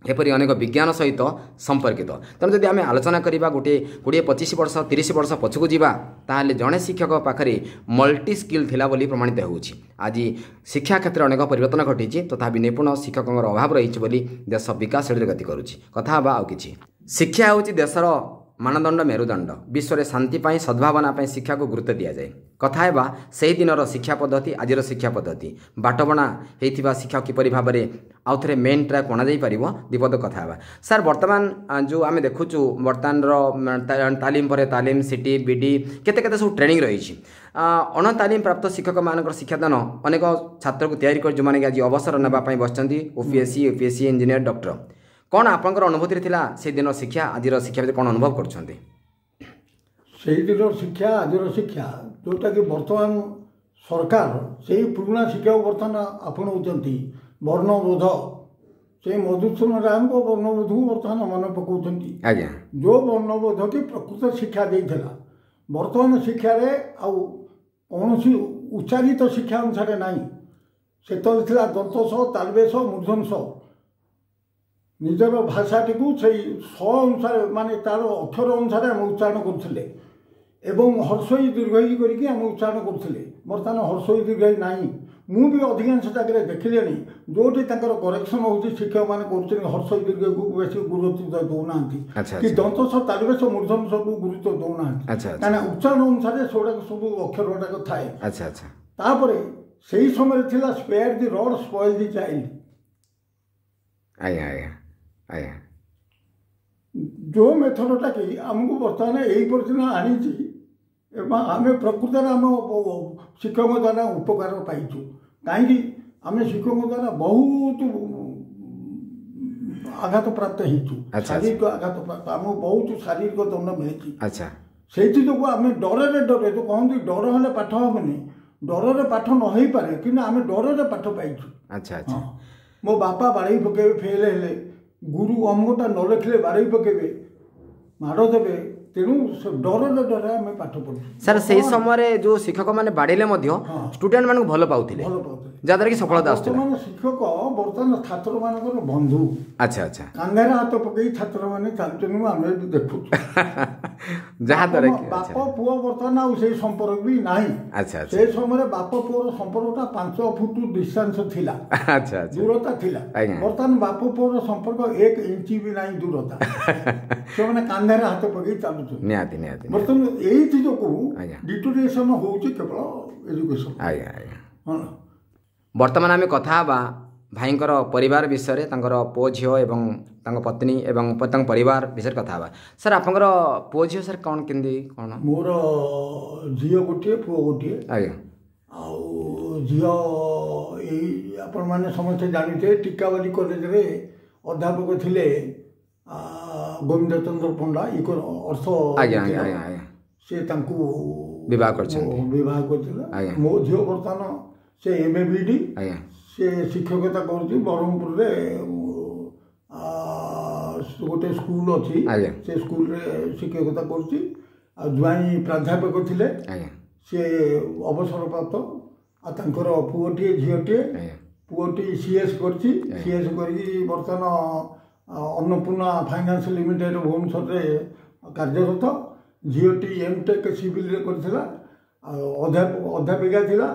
ଏପରି ଅନେକ ବିଜ୍ଞାନ ସହିତ ସମ୍ପର୍କିତ। ତେଣୁ ଯଦି ଆମେ ଆଲୋଚନା କରିବା ଗୋଟିଏ କୋଡ଼ିଏ ପଚିଶ ବର୍ଷ ତିରିଶ ବର୍ଷ ପଛକୁ ଯିବା, ତାହେଲେ ଜଣେ ଶିକ୍ଷକ ପାଖରେ ମଲ୍ଟି ସ୍କିଲ୍ ଥିଲା ବୋଲି ପ୍ରମାଣିତ ହେଉଛି। ଆଜି ଶିକ୍ଷା କ୍ଷେତ୍ରରେ ଅନେକ ପରିବର୍ତ୍ତନ ଘଟିଛି, ତଥାପି ନିପୁଣ ଶିକ୍ଷକଙ୍କର ଅଭାବ ରହିଛି ବୋଲି ଦେଶ ବିକାଶ ଶ୍ରେଣୀରେ ଗତି କରୁଛି। କଥା ହେବା ଆଉ କିଛି। ଶିକ୍ଷା ହେଉଛି ଦେଶର ମାନଦଣ୍ଡ, ମେରୁଦଣ୍ଡ। ବିଶ୍ୱରେ ଶାନ୍ତି ପାଇଁ, ସଦ୍ଭାବନା ପାଇଁ ଶିକ୍ଷାକୁ ଗୁରୁତ୍ୱ ଦିଆଯାଏ। କଥା ହେବା ସେହି ଦିନର ଶିକ୍ଷା ପଦ୍ଧତି, ଆଜିର ଶିକ୍ଷା ପଦ୍ଧତି, ବାଟବଣା ହେଇଥିବା ଶିକ୍ଷା କିପରି ଭାବରେ ଆଉ ଥରେ ମେନ୍ ଟ୍ରାକ୍ ଅଣାଯାଇପାରିବ, ବିପଦ କଥା ହେବା। ସାର୍, ବର୍ତ୍ତମାନ ଯେଉଁ ଆମେ ଦେଖୁଛୁ ବର୍ତ୍ତମାନର ତାଲିମ ପରେ ତାଲିମ, ସିଟି, ବିଡି, କେତେ କେତେ ସବୁ ଟ୍ରେନିଂ ରହିଛି। ଅଣତାଲିମ ପ୍ରାପ୍ତ ଶିକ୍ଷକମାନଙ୍କର ଶିକ୍ଷାଦାନ ଅନେକ ଛାତ୍ରକୁ ତିଆରି କରି ଯେଉଁମାନେ କି ଆଜି ଅବସର ନେବା ପାଇଁ ବସିଛନ୍ତି, ଓପିଏସ୍ସି, ୟୁପିଏସ୍ସି, ଇଞ୍ଜିନିୟର, ଡକ୍ଟର। କ'ଣ ଆପଣଙ୍କର ଅନୁଭୂତିରେ ଥିଲା ସେଦିନର ଶିକ୍ଷା, ଆଜିର ଶିକ୍ଷା ଭିତରେ କ'ଣ ଅନୁଭବ କରୁଛନ୍ତି? ସେଇଦିନର ଶିକ୍ଷା ଆଜିର ଶିକ୍ଷା, ଯେଉଁଟାକି ବର୍ତ୍ତମାନ ସରକାର ସେଇ ପୁରୁଣା ଶିକ୍ଷାକୁ ବର୍ତ୍ତମାନ ଆପଣଉଛନ୍ତି। ବର୍ଣ୍ଣବୋଧ, ସେଇ ମଧୁସୂଦନ ରାୟଙ୍କ ବର୍ଣ୍ଣବୋଧକୁ ବର୍ତ୍ତମାନ ମନେ ପକାଉଛନ୍ତି। ଆଜ୍ଞା, ଯେଉଁ ବର୍ଣ୍ଣବୋଧ କି ପ୍ରକୃତ ଶିକ୍ଷା ଦେଇଥିଲା, ବର୍ତ୍ତମାନ ଶିକ୍ଷାରେ ଆଉ କୌଣସି ଉଚ୍ଚାରିତ ଶିକ୍ଷା ଅନୁସାରେ ନାହିଁ। ସେତେବେଳେ ଥିଲା ଦନ୍ତ ସ, ତାଲବେଶ, ମୂର୍ଧନ ସ। ନିଜର ଭାଷାଟିକୁ ସେଇ ସ ଅନୁସାରେ ମାନେ ତାର ଅକ୍ଷର ଅନୁସାରେ ଆମେ ଉଚ୍ଚାରଣ କରୁଥିଲେ ଏବଂ ହର୍ଷଇ ଦୀର୍ଘଇ କରିକି ଆମେ ଉଚ୍ଚାରଣ କରୁଥିଲେ। ବର୍ତ୍ତମାନ ହର୍ଷଇ ଦୀର୍ଘଇ ନାହିଁ। ମୁଁ ବି ଅଧିକାଂଶ ଜାଗାରେ ଦେଖିଲିଣି ଯେଉଁଠି ତାଙ୍କର କରେକ୍ସନ୍ ହେଉଛି, ଶିକ୍ଷକମାନେ କରୁଛନ୍ତି, ହର୍ଷଇ ଦୀର୍ଘକୁ ବେଶୀ ଗୁରୁତ୍ୱ ଦେଉନାହାନ୍ତି ଆଚ୍ଛା କି ଦନ୍ତ ତାଲିବେଶ ମୂର୍ଧନ ସବୁ ଗୁରୁତ୍ୱ ଦେଉନାହାନ୍ତି, ଆଚ୍ଛା ଆଚ୍ଛା କାହିଁକିନା ଉଚ୍ଚାରଣ ଅନୁସାରେ ସେଗୁଡ଼ାକ ସବୁ ଅକ୍ଷର ଗୁଡ଼ାକ ଥାଏ। ଆଚ୍ଛା ଆଚ୍ଛା ତାପରେ ସେଇ ସମୟରେ ଥିଲା spare the rod spoil the child. ଆଜ୍ଞା ଆଜ୍ଞା ଆଜ୍ଞା ଯେଉଁ ମେଥଡ଼ଟା କି ଆମକୁ ବର୍ତ୍ତମାନ ଏଇ ପର୍ଯ୍ୟନ୍ତ ଆଣିଛି ଏବଂ ଆମେ ପ୍ରକୃତରେ ଆମ ଶିକ୍ଷକଙ୍କ ଦ୍ୱାରା ଉପକାର ପାଇଛୁ। କାହିଁକି ଆମେ ଶିକ୍ଷକଙ୍କ ଦ୍ୱାରା ବହୁତ ଆଘାତ ପ୍ରାପ୍ତ ହେଇଛୁ, ଆଚ୍ଛା। ଶାରୀରିକ ଆଘାତ ପ୍ରାପ୍ତ, ଆମକୁ ବହୁତ ଶାରୀରିକ ଦଣ୍ଡ ମିଳିଛି। ଆଚ୍ଛା ସେଇଥି ଯୋଗୁଁ ଆମେ ଡରରେ ଡରରେ, ଯେଉଁ କହନ୍ତି ଡର ହେଲେ ପାଠ ହେବନି, ଡରରେ ପାଠ ନ ହେଇପାରେ, କିନ୍ତୁ ଆମେ ଡରରେ ପାଠ ପାଇଛୁ। ଆଚ୍ଛା ଆଚ୍ଛା ହଁ, ମୋ ବାପା ବାଡ଼େଇ ପକେଇବେ ଫେଲ୍ ହେଲେ, ଗୁରୁ ଅମକଟା ନ ଲେଖିଲେ ବାଡ଼େଇ ପକେଇବେ, ମାଡ଼ ଦେବେ। ତେଣୁ ସେ ଡରରେ ଡରରେ ଆମେ ପାଠ ପଢ଼ୁଛୁ। ସାର୍, ସେଇ ସମୟରେ ଯେଉଁ ଶିକ୍ଷକମାନେ ବାଡ଼େଇଲେ ମଧ୍ୟ ହଁ। ଷ୍ଟୁଡେଣ୍ଟ ମାନଙ୍କୁ ଭଲ ପାଉଥିଲେ, ଭଲ ପାଉଥିଲେ, ଯାହାଦ୍ୱାରା କି ସଫଳତା ଆସୁଥିଲା। ବର୍ତ୍ତମାନ ଶିକ୍ଷକ ବର୍ତ୍ତମାନ ଛାତ୍ରମାନଙ୍କର ବନ୍ଧୁ। ଆଚ୍ଛା ଆଚ୍ଛା କାନ୍ଧରେ ହାତ ପକେଇ ଛାତ୍ରମାନେ ଚାଲୁଛନ୍ତି, ଆମେ ବି ଦେଖୁଛୁ। ଯାହାଦ୍ୱାରା କି ବାପ ପୁଅ ବର୍ତ୍ତମାନ ଆଉ ସେଇ ସମ୍ପର୍କ ବି ନାହିଁ। ଆଚ୍ଛା ଆଚ୍ଛା ସେ ସମୟରେ ବାପ ପୁଅର ସମ୍ପର୍କଟା ପାଞ୍ଚ ଫୁଟ ଡିଷ୍ଟାନ୍ସ ଥିଲା, ଆଚ୍ଛା ଆଚ୍ଛା ଦୂରତା ଥିଲା। ଆଜ୍ଞା। ବର୍ତ୍ତମାନ ବାପ ପୁଅର ସମ୍ପର୍କ ଏକ ଇଞ୍ଚ ବି ନାହିଁ ଦୂରତା, ସେମାନେ କାନ୍ଧରେ ହାତ ପକେଇ ଚାଲୁଛନ୍ତି। ନିହାତି ନିହାତି ନିହାତି। ବର୍ତ୍ତମାନ ଏଇଥି ଯୋଗୁଁ ଆଜ୍ଞା। ଡିଟୋରିଏସନ ହଉଛି କେବଳ ଏଜୁକେସନ। ଆଜ୍ଞା ଆଜ୍ଞା ହଁ। ବର୍ତ୍ତମାନ ଆମେ କଥା ହେବା ଭାଇଙ୍କର ପରିବାର ବିଷୟରେ, ତାଙ୍କର ପୁଅ ଝିଅ ଏବଂ ତାଙ୍କ ପତ୍ନୀ ଏବଂ ପ- ତାଙ୍କ ପରିବାର ବିଷୟରେ କଥା ହେବା। ସାର୍, ଆପଣଙ୍କର ପୁଅ ଝିଅ ସାର୍ କ'ଣ କେମିତି କ'ଣ? ମୋର ଝିଅ ଗୋଟିଏ, ପୁଅ ଗୋଟିଏ। ଆଜ୍ଞା ଆଉ ଝିଅ ଏଇ ଆପଣମାନେ ସମସ୍ତେ ଜାଣିଥିବେ, ଟିକାବାଲି କଲେଜରେ ଅଧ୍ୟାପକ ଥିଲେ ଆ, ଗୋବିନ୍ଦ ଚନ୍ଦ୍ର ପଣ୍ଡା, ଇକୋ ଅର୍ଥ ଆଜ୍ଞା ଆଜ୍ଞା ଆଜ୍ଞା ଆଜ୍ଞା ସେ ତାଙ୍କୁ ବିବାହ କରିଛନ୍ତି। ବିବାହ କରିଥିଲେ। ଆଜ୍ଞା। ମୋ ଝିଅ ବର୍ତ୍ତମାନ ସେ ଏମ୍ ଏ ବି ଡ଼ି, ଆଜ୍ଞା ସେ ଶିକ୍ଷକତା କରୁଛି ବ୍ରହ୍ମପୁରରେ। ଆ, ଗୋଟେ ସ୍କୁଲ ଅଛି, ଆଜ୍ଞା ସେ ସ୍କୁଲରେ ଶିକ୍ଷକତା କରୁଛି। ଆଉ ଜ୍ୱାଇଁ ପ୍ରାଧ୍ୟାପକ ଥିଲେ, ଆଜ୍ଞା ସେ ଅବସରପ୍ରାପ୍ତ। ଆଉ ତାଙ୍କର ପୁଅଟିଏ ଝିଅଟିଏ। ଆଜ୍ଞା ପୁଅଟି ସି ଏସ୍ କରିଛି, ସି ଏସ୍ କରିକି ବର୍ତ୍ତମାନ ଆ, ଅନ୍ନପୂର୍ଣ୍ଣା ଫାଇନାନ୍ସ ଲିମିଟେଡ଼ ଭୁବନେଶ୍ୱରରେ କାର୍ଯ୍ୟରତ। ଝିଅଟି ଏମ୍ ଟେକ୍ ସିଭିଲରେ କରିଥିଲା ଆଉ ଅଧ୍ୟାପକ ଅଧ୍ୟାପିକା ଥିଲା।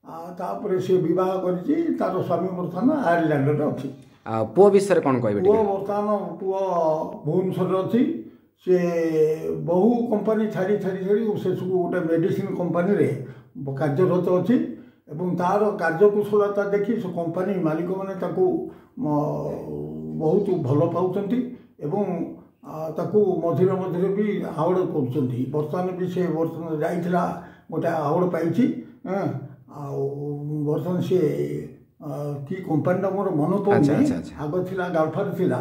ଆଉ ତାପରେ ସେ ବିବାହ କରିଛି, ତାର ସ୍ୱାମୀ ବର୍ତ୍ତମାନ ଆୟାରଲ୍ୟାଣ୍ଡରେ ଅଛି। ଆଉ ପୁଅ ବିଷୟରେ କ'ଣ କହିବେ ପୁଅ ଟିକେ? ବର୍ତ୍ତମାନ ପୁଅ ଭୁବନେଶ୍ୱରରେ ଅଛି। ସେ ବହୁ କମ୍ପାନୀ ଛାଡ଼ି ଛାଡ଼ି ଛାଡ଼ି ଶେଷକୁ ଗୋଟେ ମେଡ଼ିସିନ କମ୍ପାନୀରେ କାର୍ଯ୍ୟରତ ଅଛି ଏବଂ ତାର କାର୍ଯ୍ୟକୁଶଳତା ଦେଖି ସେ କମ୍ପାନୀ ମାଲିକମାନେ ତାକୁ ମ, ବହୁତ ଭଲ ପାଉଛନ୍ତି ଏବଂ ଆ, ତାକୁ ମଝିରେ ମଝିରେ ବି ଆୱାର୍ଡ଼ କରୁଛନ୍ତି। ବର୍ତ୍ତମାନ ବି ସେ ବର୍ତ୍ତମାନ ଯାଇଥିଲା, ଗୋଟେ ଆୱାର୍ଡ଼ ପାଇଛି। ଏଁ, ଆଉ ବର୍ତ୍ତମାନ ସେ ଆ, କି କମ୍ପାନୀଟା ମୋର ମନେ ଆଚ୍ଛା, ପଡ଼ୁନି, ଆଚ୍ଛା, ଆଚ୍ଛା। ଆଗ ଥିଲା ଗାଲଫାର ଥିଲା,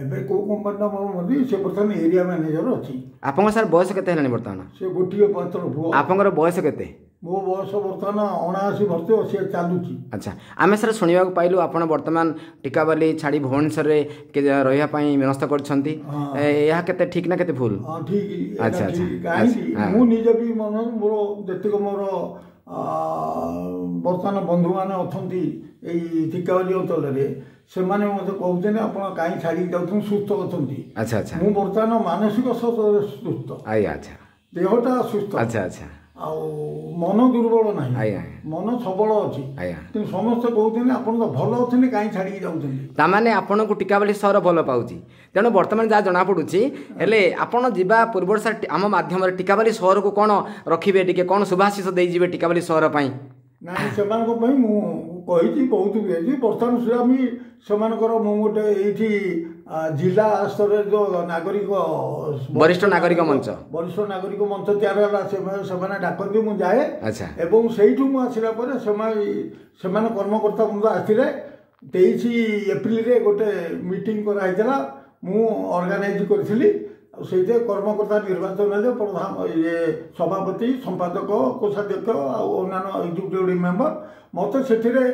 ଏବେ କେଉଁ କମ୍ପାନୀଟା ମୋର ମନେ ନାହିଁ। ସେ ବର୍ତ୍ତମାନ ଏରିଆ ମ୍ୟାନେଜର ଅଛି। ଆପଣଙ୍କ ସାର୍ ବୟସ କେତେ ହେଲାଣି ବର୍ତ୍ତମାନ? ସେ ଗୋଟିଏ ମାତ୍ର ପୁଅ। ଆପଣଙ୍କର ବୟସ କେତେ? ମୋ ବୟସ ବର୍ତ୍ତମାନ ଅଣାଅଶୀ ବର୍ଷ ସେ ଚାଲୁଛି। ଆଚ୍ଛା, ଆମେ ସାର୍ ଶୁଣିବାକୁ ପାଇଲୁ ଆପଣ ବର୍ତ୍ତମାନ ଟିକାବାଲି ଛାଡ଼ି ଭୁବନେଶ୍ୱରରେ କେ- ରହିବା ପାଇଁ ମନସ୍ଥ କରିଛନ୍ତି। ହଁ। ଏ, ଏହା କେତେ ଠିକ୍ ନା କେତେ ଭୁଲ? ହଁ, ଠିକ୍ ଏଇଟା। ଆଚ୍ଛା, ଆଚ୍ଛା, ଠିକ୍। କାହିଁକି ଆଚ୍ଛା, ମୁଁ ନିଜେ ବି ମନ ମୋର ଯେତିକ ମୋର ଆ, ବର୍ତ୍ତମାନ ବନ୍ଧୁମାନେ ଅଛନ୍ତି ଏଇ ଟିକାବାଲି ଅଞ୍ଚଳରେ, ସେମାନେ ମୋତେ କହୁଛନ୍ତି ଆପଣ କାହିଁ ଛାଡ଼ିକି ଯାଉଛନ୍ତି, ସୁସ୍ଥ ଅଛନ୍ତି। ଆଚ୍ଛା ଆଚ୍ଛା ମୁଁ ବର୍ତ୍ତମାନ ମାନସିକ ସ୍ତରରେ ସୁସ୍ଥ, ଆଜ୍ଞା ଆଚ୍ଛା ଦେହଟା ସୁସ୍ଥ, ଆଚ୍ଛା ଆଚ୍ଛା ଆଉ ମନ ଦୁର୍ବଳ ନାହିଁ, ଆଜ୍ଞା ଆଜ୍ଞା ମନ ସବଳ ଅଛି। ଆଜ୍ଞା କିନ୍ତୁ ସମସ୍ତେ କହୁଛନ୍ତି ଆପଣ ତ ଭଲ ଅଛନ୍ତି, କାହିଁ ଛାଡ଼ିକି ଯାଉଛନ୍ତି? ତାମାନେ ଆପଣଙ୍କୁ ଟିକାବାଲି ସହର ଭଲ ପାଉଛି। ତେଣୁ ବର୍ତ୍ତମାନ ଯାହା ଜଣାପଡ଼ୁଛି, ହେଲେ ଆପଣ ଯିବା ପୂର୍ବରୁ ସାର୍ ଆମ ମାଧ୍ୟମରେ ଟିକାବାଲି ସହରକୁ କ'ଣ ରଖିବେ, ଟିକେ କ'ଣ ଶୁଭାଶିଷ ଦେଇଯିବେ ଟିକାବାଲି ସହର ପାଇଁ? ନାଇଁ, ସେମାନଙ୍କ ପାଇଁ ମୁଁ କହିଛି, ବହୁତ ବି ହେଇଛି। ବର୍ତ୍ତମାନ ସୁଦ୍ଧା ବି ସେମାନଙ୍କର ମୁଁ ଗୋଟେ ଏଇଠି ଆ, ଜିଲ୍ଲା ସ୍ତରରେ ଯେଉଁ ନାଗରିକ ବରିଷ୍ଠ ନାଗରିକ ମଞ୍ଚ, ବରିଷ୍ଠ ନାଗରିକ ମଞ୍ଚ ତିଆରି ହେଲା, ସେମାନେ ସେମାନେ ଡାକନ୍ତି, ମୁଁ ଯାଏ। ଆଚ୍ଛା ଏବଂ ସେଇଠୁ ମୁଁ ଆସିଲା ପରେ ସେମାନେ ସେମାନେ କର୍ମକର୍ତ୍ତା ବୃନ୍ଦ ଆସିଥିଲେ। ତେଇଶ ଏପ୍ରିଲରେ ଗୋଟେ ମିଟିଂ କରାହେଇଥିଲା, ମୁଁ ଅର୍ଗାନାଇଜ କରିଥିଲି। ଆଉ ସେଇଥିରେ କର୍ମକର୍ତ୍ତା ନିର୍ବାଚନ ହେଲେ, ପ୍ରଧାନ ଇଏ ସଭାପତି, ସମ୍ପାଦକ, କୋଷାଧ୍ୟକ୍ଷ ଆଉ ଅନ୍ୟାନ୍ୟ ଏକ୍ଜିକ୍ୟୁଟିଭ ମେମ୍ବର। ମୋତେ ସେଥିରେ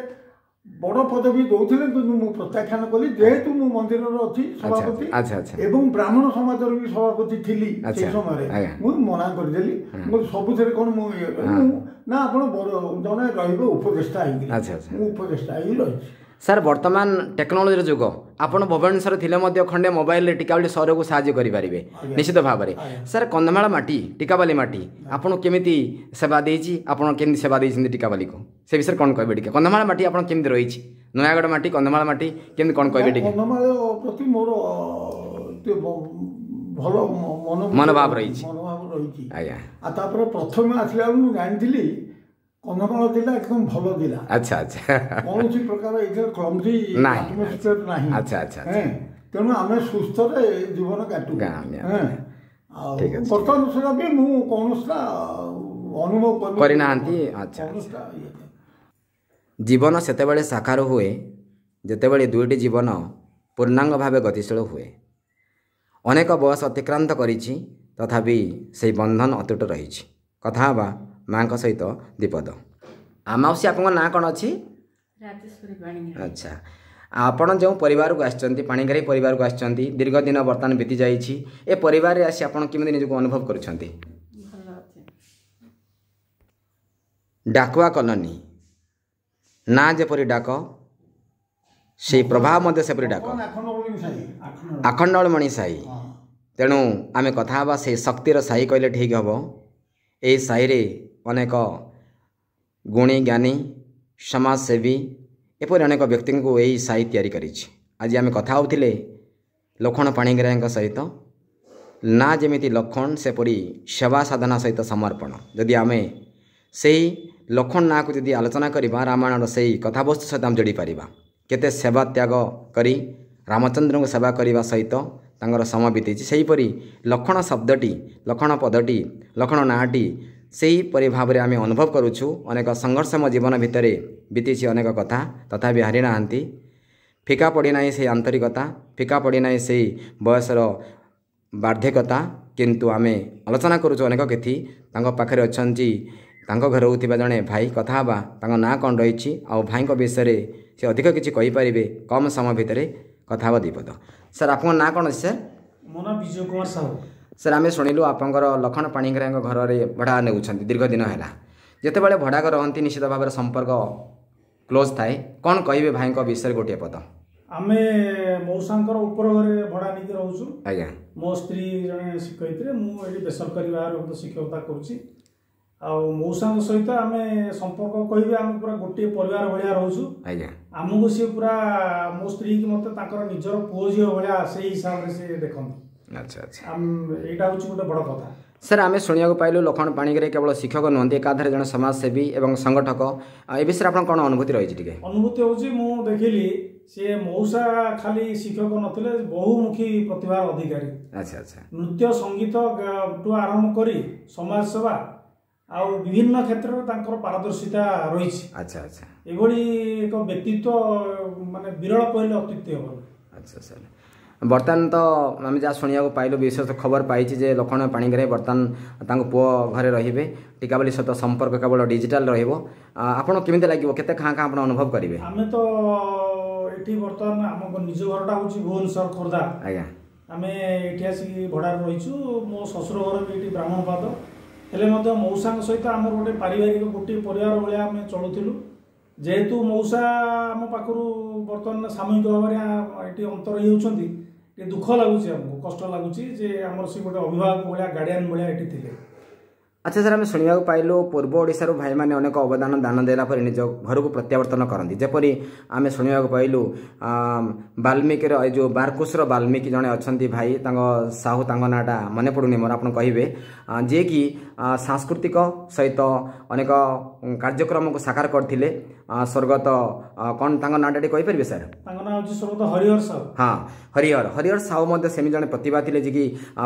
ବଡ଼ ପଦବୀ ଦେଉଥିଲେ, କିନ୍ତୁ ମୁଁ ପ୍ରତ୍ୟାଖ୍ୟାନ କଲି, ଯେହେତୁ ମୁଁ ମନ୍ଦିରର ଅଛି ସଭାପତି ଆଚ୍ଛା ଆଚ୍ଛା ଏବଂ ବ୍ରାହ୍ମଣ ସମାଜର ବି ସଭାପତି ଥିଲି ଆଚ୍ଛା, ସେଇ ସମୟରେ। ଆଜ୍ଞା। ମୁଁ ମନା କରିଦେଲି, ମୁଁ କହିଲି, ସବୁଥିରେ କ'ଣ ମୁଁ ଇଏ କରିବି? ମୁଁ ନା, ଆପଣ ବଡ଼ ଜଣେ ରହିବେ ଉପଦେଷ୍ଟା ହେଇକିରି। ଆଚ୍ଛା ଆଚ୍ଛା ମୁଁ ଉପଦେଷ୍ଟା ହେଇ ରହିଛି। ସାର୍, ବର୍ତ୍ତମାନ ଟେକ୍ନୋଲୋଜିର ଯୁଗ। ଆପଣ ଭୁବନେଶ୍ୱରରେ ଥିଲେ ମଧ୍ୟ ଖଣ୍ଡେ ମୋବାଇଲରେ ଟିକାବାଲି ସହରକୁ ସାହାଯ୍ୟ କରିପାରିବେ ନିଶ୍ଚିତ ଭାବରେ। ସାର୍, କନ୍ଧମାଳ ମାଟି, ଟିକାବାଲି ମାଟି ଆପଣ କେମିତି ସେବା ଦେଇଛି, ଆପଣ କେମିତି ସେବା ଦେଇଛନ୍ତି ଟିକାବାଲିକୁ, ସେ ବିଷୟରେ କ'ଣ କହିବେ ଟିକେ? କନ୍ଧମାଳ ମାଟି ଆପଣ କେମିତି ରହିଛି, ନୟାଗଡ଼ ମାଟି, କନ୍ଧମାଳ ମାଟି କେମିତି କ'ଣ କହିବେ ଟିକେ? କନ୍ଧମାଳ ପ୍ରତି ମୋର ଭଲ ମନ ମନୋଭାବ ରହିଛି, ମନୋଭାବ ରହିଛି ଆଜ୍ଞା। ଆଉ ତାପରେ ପ୍ରଥମେ ଆସିଲା ବେଳକୁ ମୁଁ ଜାଣିଥିଲି କନ୍ଧମାଳ ଜିଲ୍ଲା ଏକଦମ ଭଲ ଜିଲ୍ଲା। ଆଚ୍ଛା ଆଚ୍ଛା। କୌଣସି ପ୍ରକାର ଏଥିରେ କ୍ଲମଜି ନାହିଁ, ଆଟମୋସ୍ଫିୟର ନାହିଁ। ଆଚ୍ଛା ଆଚ୍ଛା। ତେଣୁ ଆମେ ସୁସ୍ଥରେ ଜୀବନ କାଟୁ। ଆଉ ବର୍ତ୍ତମାନ ସୁଦ୍ଧା ବି ମୁଁ କୌଣସିଟା ଅନୁଭବ କରିନାହାନ୍ତି। ଆଚ୍ଛା। ଜୀବନ ସେତେବେଳେ ସାକାର ହୁଏ ଯେତେବେଳେ ଦୁଇଟି ଜୀବନ ପୂର୍ଣ୍ଣାଙ୍ଗ ଭାବେ ଗତିଶୀଳ ହୁଏ। ଅନେକ ବୟସ ଅତିକ୍ରାନ୍ତ କରିଛି, ତଥାପି ସେଇ ବନ୍ଧନ ଅତୁଟ ରହିଛି। କଥା ହେବା ମାଆଙ୍କ ସହିତ ଦ୍ୱିପଦ। ମାଉସୀ, ଆପଣଙ୍କ ନାଁ କ'ଣ ଅଛି? ଆଚ୍ଛା, ଆପଣ ଯେଉଁ ପରିବାରକୁ ଆସିଛନ୍ତି, ପାଣିଗ୍ରାହୀ ପରିବାରକୁ ଆସିଛନ୍ତି, ଦୀର୍ଘ ଦିନ ବର୍ତ୍ତମାନ ବିତି ଯାଇଛି, ଏ ପରିବାରରେ ଆସି ଆପଣ କେମିତି ନିଜକୁ ଅନୁଭବ କରୁଛନ୍ତି? ଡାକୁଆ କଲୋନୀ ନାଁ ଯେପରି ଡାକ, ସେଇ ପ୍ରଭାବ ମଧ୍ୟ ସେପରି ଡାକ, ଆଖଣ୍ଡଳମଣି ସାହି। ତେଣୁ ଆମେ କଥା ହେବା ସେଇ ଶକ୍ତିର ସାହି କହିଲେ ଠିକ୍ ହେବ। ଏହି ସାହିରେ ଅନେକ ଗୁଣୀ ଜ୍ଞାନୀ, ସମାଜସେବୀ, ଏପରି ଅନେକ ବ୍ୟକ୍ତିଙ୍କୁ ଏହି ସାହି ତିଆରି କରିଛି। ଆଜି ଆମେ କଥା ହେଉଥିଲେ ଲକ୍ଷ୍ମଣ ପାଣିଗ୍ରାହୀଙ୍କ ସହିତ। ନା ଯେମିତି ଲକ୍ଷ୍ମଣ, ସେପରି ସେବା ସାଧନା ସହିତ ସମର୍ପଣ। ଯଦି ଆମେ ସେଇ ଲକ୍ଷ୍ମଣ ନାଁକୁ ଯଦି ଆଲୋଚନା କରିବା, ରାମାୟଣର ସେଇ କଥାବସ୍ତୁ ସହିତ ଆମେ ଯୋଡ଼ି ପାରିବା। କେତେ ସେବା ତ୍ୟାଗ କରି ରାମଚନ୍ଦ୍ରଙ୍କୁ ସେବା କରିବା ସହିତ ତାଙ୍କର ସମୟ ବିତିଛି। ସେହିପରି ଲକ୍ଷ୍ମଣ ଶବ୍ଦଟି, ଲକ୍ଷ୍ମଣ ପଦଟି, ଲକ୍ଷ୍ମଣ ନାଁଟି ସେହିପରି ଭାବରେ ଆମେ ଅନୁଭବ କରୁଛୁ। ଅନେକ ସଂଘର୍ଷମୟ ଜୀବନ ଭିତରେ ବିତିଛି ଅନେକ କଥା, ତଥାପି ହାରି ନାହାନ୍ତି। ଫିକା ପଡ଼ିନାହିଁ ସେଇ ଆନ୍ତରିକତା, ଫିକା ପଡ଼ିନାହିଁ ସେଇ ବୟସର ବାର୍ଦ୍ଧକ୍ୟତା। କିନ୍ତୁ ଆମେ ଆଲୋଚନା କରୁଛୁ ଅନେକ କିଛି। ତାଙ୍କ ପାଖରେ ଅଛନ୍ତି ତାଙ୍କ ଘରେ ରହୁଥିବା ଜଣେ ଭାଇ। କଥା ହେବା ତାଙ୍କ ନାଁ କ'ଣ ରହିଛି ଆଉ ଭାଇଙ୍କ ବିଷୟରେ ସେ ଅଧିକ କିଛି କହିପାରିବେ କମ୍ ସମୟ ଭିତରେ। କଥା ହେବା ଦ୍ୱିପଦ। ସାର୍, ଆପଣଙ୍କ ନାଁ କ'ଣ ଅଛି ସାର୍? ମୋ ନାଁ ବିଜୟ କୁମାର ସାହୁ। ସାର୍, ଆମେ ଶୁଣିଲୁ ଆପଣଙ୍କର ଲକ୍ଷ୍ମଣ ପାଣିଗ୍ରାହୀଙ୍କ ଘରରେ ଭଡ଼ା ନେଉଛନ୍ତି ଦୀର୍ଘ ଦିନ ହେଲା। ଯେତେବେଳେ ଭଡ଼ା ଘରେ ରହନ୍ତି ନିଶ୍ଚିତ ଭାବରେ ସମ୍ପର୍କ କ୍ଲୋଜ୍ ଥାଏ। କ'ଣ କହିବେ ଭାଇଙ୍କ ବିଷୟରେ ଗୋଟିଏ ପଦ? ଆମେ ମଉସାଙ୍କର ଉପର ଘରେ ଭଡ଼ା ନେଇକି ରହୁଛୁ ଆଜ୍ଞା। ମୋ ସ୍ତ୍ରୀ ଜଣେ ଶିକ୍ଷୟିତ୍ରୀ, ମୁଁ ଏଠି ବେସରକାରୀ ଭାବରେ ମଧ୍ୟ ଶିକ୍ଷକତା କରୁଛି। ଆଉ ମଉସାଙ୍କ ସହିତ ଆମେ ସମ୍ପର୍କ କହିବେ ଆମେ ପୁରା ଗୋଟିଏ ପରିବାର ଭଳିଆ ରହୁଛୁ ଆଜ୍ଞା। ଆମକୁ ସିଏ ପୁରା, ମୋ ସ୍ତ୍ରୀକି ମୋତେ ତାଙ୍କର ନିଜର ପୁଅ ଝିଅ ଭଳିଆ ସେଇ ହିସାବରେ ସିଏ ଦେଖନ୍ତି। ଆଚ୍ଛା ଆଚ୍ଛା। ଏଇଟା ହେଉଛି ଗୋଟେ ବଡ଼ କଥା। ସାର୍, ଆମେ ଶୁଣିବାକୁ ପାଇଲୁ ଲକ୍ଷ୍ମଣ ପାଣିଗ୍ରାହୀ କେବଳ ଶିକ୍ଷକ ନୁହନ୍ତି, ଏକାଧାରେ ଜଣେ ସମାଜସେବୀ ଏବଂ ସଂଗଠକ। ଏ ବିଷୟରେ ଆପଣ କ'ଣ ଅନୁଭୂତି ରହିଛି ଟିକେ? ଅନୁଭୂତି ହେଉଛି, ମୁଁ ଦେଖିଲି ସିଏ ମଉସା ଖାଲି ଶିକ୍ଷକ ନଥିଲେ, ବହୁମୁଖୀ ପ୍ରତିଭାର ଅଧିକାରୀ। ଆଚ୍ଛା ଆଚ୍ଛା। ନୃତ୍ୟ ସଙ୍ଗୀତ ଠୁ ଆରମ୍ଭ କରି ସମାଜସେବା ଆଉ ବିଭିନ୍ନ କ୍ଷେତ୍ରରେ ତାଙ୍କର ପାରଦର୍ଶିତା ରହିଛି। ଆଚ୍ଛା ଆଚ୍ଛା। ଏଭଳି ଏକ ବ୍ୟକ୍ତିତ୍ୱ ମାନେ ବିରଳ କହିଲେ ଅତ୍ୟୁକ୍ତି ହେବ। ଆଚ୍ଛା ସାର୍, ବର୍ତ୍ତମାନ ତ ଆମେ ଯାହା ଶୁଣିବାକୁ ପାଇଲୁ, ବିଶେଷ ଖବର ପାଇଛି ଯେ ଲକ୍ଷ୍ମଣ ପାଣିଗ୍ରାହୀ ବର୍ତ୍ତମାନ ତାଙ୍କ ପୁଅ ଘରେ ରହିବେ, ଟିକାବାଲି ସହିତ ସମ୍ପର୍କ କେବଳ ଡିଜିଟାଲ ରହିବ। ଆପଣ କେମିତି ଲାଗିବ, କେତେ ଖାଁ ଖାଁ ଆପଣ ଅନୁଭବ କରିବେ? ଆମେ ତ ଏଠି ବର୍ତ୍ତମାନ ଆମ ନିଜ ଘରଟା ହେଉଛି ଭୁବନେଶ୍ୱର ଖୋର୍ଦ୍ଧା ଆଜ୍ଞା। ଆମେ ଏଠି ଆସିକି ଭଡ଼ାରେ ରହିଛୁ। ମୋ ଶ୍ୱଶୁର ଘର ବି ଏଠି ବ୍ରାହ୍ମଣପାଦ। ହେଲେ ମଧ୍ୟ ମଉସାଙ୍କ ସହିତ ଆମର ଗୋଟେ ପାରିବାରିକ ଗୋଟିଏ ପରିବାର ଭଳିଆ ଆମେ ଚଳୁଥିଲୁ। ଯେହେତୁ ମଉସା ଆମ ପାଖରୁ ବର୍ତ୍ତମାନ ସାମୟିକ ଭାବରେ ଏଠି ଅନ୍ତର ହେଇଯାଉଛନ୍ତି, ଟିକେ ଦୁଃଖ ଲାଗୁଛି ଆମକୁ, କଷ୍ଟ ଲାଗୁଛି ଯେ ଆମର ସେ ଗୋଟେ ଅଭିଭାବକ ଭଳିଆ, ଗାର୍ଡ଼ିଆନ୍ ଭଳିଆ ଏଠି ଥିଲେ। ଆଚ୍ଛା ସାର୍, ଆମେ ଶୁଣିବାକୁ ପାଇଲୁ ପୂର୍ବ ଓଡ଼ିଶାରୁ ଭାଇମାନେ ଅନେକ ଅବଦାନ ଦାନ ଦେଲା ପରେ ନିଜ ଘରକୁ ପ୍ରତ୍ୟାବର୍ତ୍ତନ କରନ୍ତି। ଯେପରି ଆମେ ଶୁଣିବାକୁ ପାଇଲୁ ବାଲ୍ମୀକିର ଏ ଯେଉଁ ବାରକୁଶର ବାଲ୍ମୀକି ଜଣେ ଅଛନ୍ତି ଭାଇ, ତାଙ୍କ ସାହୁ, ତାଙ୍କ ନାଁଟା ମନେ ପଡ଼ୁନି ମୋର, ଆପଣ କହିବେ, ଯିଏକି ସାଂସ୍କୃତିକ ସହିତ ଅନେକ କାର୍ଯ୍ୟକ୍ରମକୁ ସାକାର କରିଥିଲେ। ସ୍ୱର୍ଗତ କ'ଣ ତାଙ୍କ ନାଁଟା ଟିକେ କହିପାରିବେ ସାର୍? ତାଙ୍କ ନାଁ ହେଉଛି ସ୍ୱର୍ଗତ ହରିହର ସାହୁ। ହଁ, ହରିହର ହରିହର ସାହୁ ମଧ୍ୟ ସେମିତି ଜଣେ ପ୍ରତିଭା ଥିଲେ, ଯିଏକି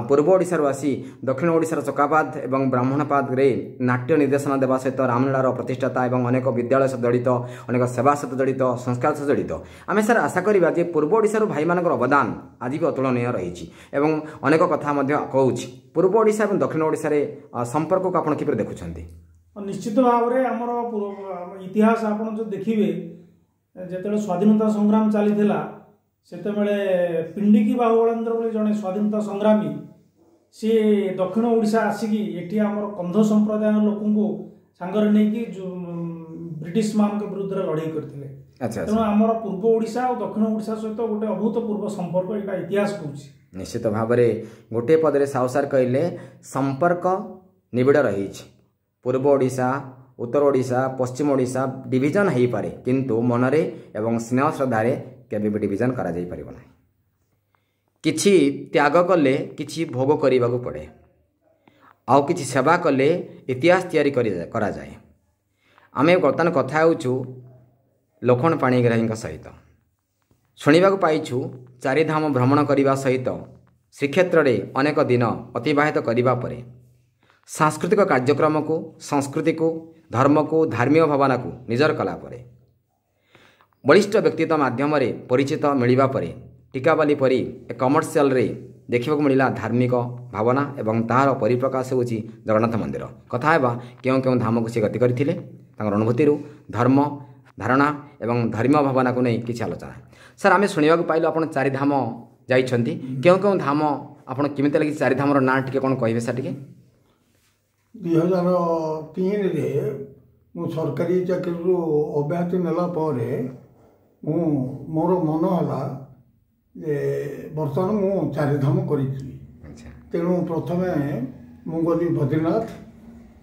ପୂର୍ବ ଓଡ଼ିଶାରୁ ଆସି ଦକ୍ଷିଣ ଓଡ଼ିଶାର ଚକାପାଦ ଏବଂ ବ୍ରାହ୍ମଣପାଦରେ ନାଟ୍ୟ ନିର୍ଦ୍ଦେଶନା ଦେବା ସହିତ ରାମଲୀଳାର ପ୍ରତିଷ୍ଠାତା ଏବଂ ଅନେକ ବିଦ୍ୟାଳୟ ସହିତ ଜଡ଼ିତ, ଅନେକ ସେବା ସହିତ ଜଡ଼ିତ, ସଂସ୍କାର ସହିତ ଜଡ଼ିତ। ଆମେ ସାର୍ ଆଶା କରିବା ଯେ ପୂର୍ବ ଓଡ଼ିଶାରୁ ଭାଇମାନଙ୍କର ଅବଦାନ ଆଜି ବି ଅତୁଳନୀୟ ରହିଛି ଏବଂ ଅନେକ କଥା ମଧ୍ୟ କହୁଛି। ପୂର୍ବ ଓଡ଼ିଶା ଏବଂ ଦକ୍ଷିଣ ଓଡ଼ିଶାରେ ସମ୍ପର୍କକୁ ଆପଣ କିପରି ଦେଖୁଛନ୍ତି? ନିଶ୍ଚିତ ଭାବରେ ଆମର ଇତିହାସ ଆପଣ ଯଦି ଦେଖିବେ, ଯେତେବେଳେ ସ୍ୱାଧୀନତା ସଂଗ୍ରାମ ଚାଲିଥିଲା ସେତେବେଳେ ପିଣ୍ଡିକି ବାହୁବଳେନ୍ଦ୍ର ବୋଲି ଜଣେ ସ୍ୱାଧୀନତା ସଂଗ୍ରାମୀ ସିଏ ଦକ୍ଷିଣ ଓଡ଼ିଶା ଆସିକି ଏଠି ଆମର କନ୍ଧ ସମ୍ପ୍ରଦାୟର ଲୋକଙ୍କୁ ସାଙ୍ଗରେ ନେଇକି ବ୍ରିଟିଶମାନଙ୍କ ବିରୁଦ୍ଧରେ ଲଢ଼େଇ କରିଥିଲେ। ଆଚ୍ଛା ତେଣୁ ଆମର ପୂର୍ବ ଓଡ଼ିଶା ଆଉ ଦକ୍ଷିଣ ଓଡ଼ିଶା ସହିତ ଗୋଟେ ଅଭୂତପୂର୍ବ ସମ୍ପର୍କ, ଏଇଟା ଇତିହାସ କହୁଛି। ନିଶ୍ଚିତ ଭାବରେ ଗୋଟିଏ ପଦରେ ସାହୁ ସାର୍ କହିଲେ ସମ୍ପର୍କ ନିବିଡ଼ ରହିଛି। ପୂର୍ବ ଓଡ଼ିଶା, ଉତ୍ତର ଓଡ଼ିଶା, ପଶ୍ଚିମ ଓଡ଼ିଶା ଡିଭିଜନ୍ ହେଇପାରେ, କିନ୍ତୁ ମନରେ ଏବଂ ସ୍ନେହ ଶ୍ରଦ୍ଧାରେ କେବେ ବି ଡିଭିଜନ୍ କରାଯାଇପାରିବ ନାହିଁ। କିଛି ତ୍ୟାଗ କଲେ କିଛି ଭୋଗ କରିବାକୁ ପଡ଼େ, ଆଉ କିଛି ସେବା କଲେ ଇତିହାସ ତିଆରି କରାଯାଏ। ଆମେ ବର୍ତ୍ତମାନ କଥା ହେଉଛୁ ଲକ୍ଷ୍ମଣ ପାଣିଗ୍ରାହୀଙ୍କ ସହିତ। ଶୁଣିବାକୁ ପାଇଛୁ ଚାରିଧାମ ଭ୍ରମଣ କରିବା ସହିତ ଶ୍ରୀକ୍ଷେତ୍ରରେ ଅନେକ ଦିନ ଅତିବାହିତ କରିବା ପରେ ସାଂସ୍କୃତିକ କାର୍ଯ୍ୟକ୍ରମକୁ, ସଂସ୍କୃତିକୁ, ଧର୍ମକୁ, ଧାର୍ମିକ ଭାବନାକୁ ନିଜର କଲା ପରେ ବଳିଷ୍ଠ ବ୍ୟକ୍ତିତ୍ୱ ମାଧ୍ୟମରେ ପରିଚିତ ମିଳିବା ପରେ ଟିକାବାଲି ପରି ଏକ କମର୍ସିଆଲରେ ଦେଖିବାକୁ ମିଳିଲା ଧାର୍ମିକ ଭାବନା ଏବଂ ତାହାର ପରିପ୍ରକାଶ ହେଉଛି ଜଗନ୍ନାଥ ମନ୍ଦିର। କଥା ହେବା କେଉଁ କେଉଁ ଧାମକୁ ସେ ଗତି କରିଥିଲେ, ତାଙ୍କର ଅନୁଭୂତିରୁ ଧର୍ମ ଧାରଣା ଏବଂ ଧର୍ମୀୟ ଭାବନାକୁ ନେଇ କିଛି ଆଲୋଚନା। ସାର୍, ଆମେ ଶୁଣିବାକୁ ପାଇଲୁ ଆପଣ ଚାରିଧାମ ଯାଇଛନ୍ତି, କେଉଁ କେଉଁ ଧାମ ଆପଣ କେମିତି ଲାଗିଛି ଚାରିଧାମର ନାଁ ଟିକେ କ'ଣ କହିବେ ସାର୍ ଟିକେ? ଦୁଇ ହଜାର ତିନିରେ ମୁଁ ସରକାରୀ ଚାକିରିରୁ ଅବ୍ୟାହତି ନେଲା ପରେ ମୁଁ ମୋର ମନ ହେଲା ଯେ ବର୍ତ୍ତମାନ ମୁଁ ଚାରିଧାମ କରିଛି। ତେଣୁ ପ୍ରଥମେ ମୁଁ ଗଲି ବଦ୍ରିନାଥ,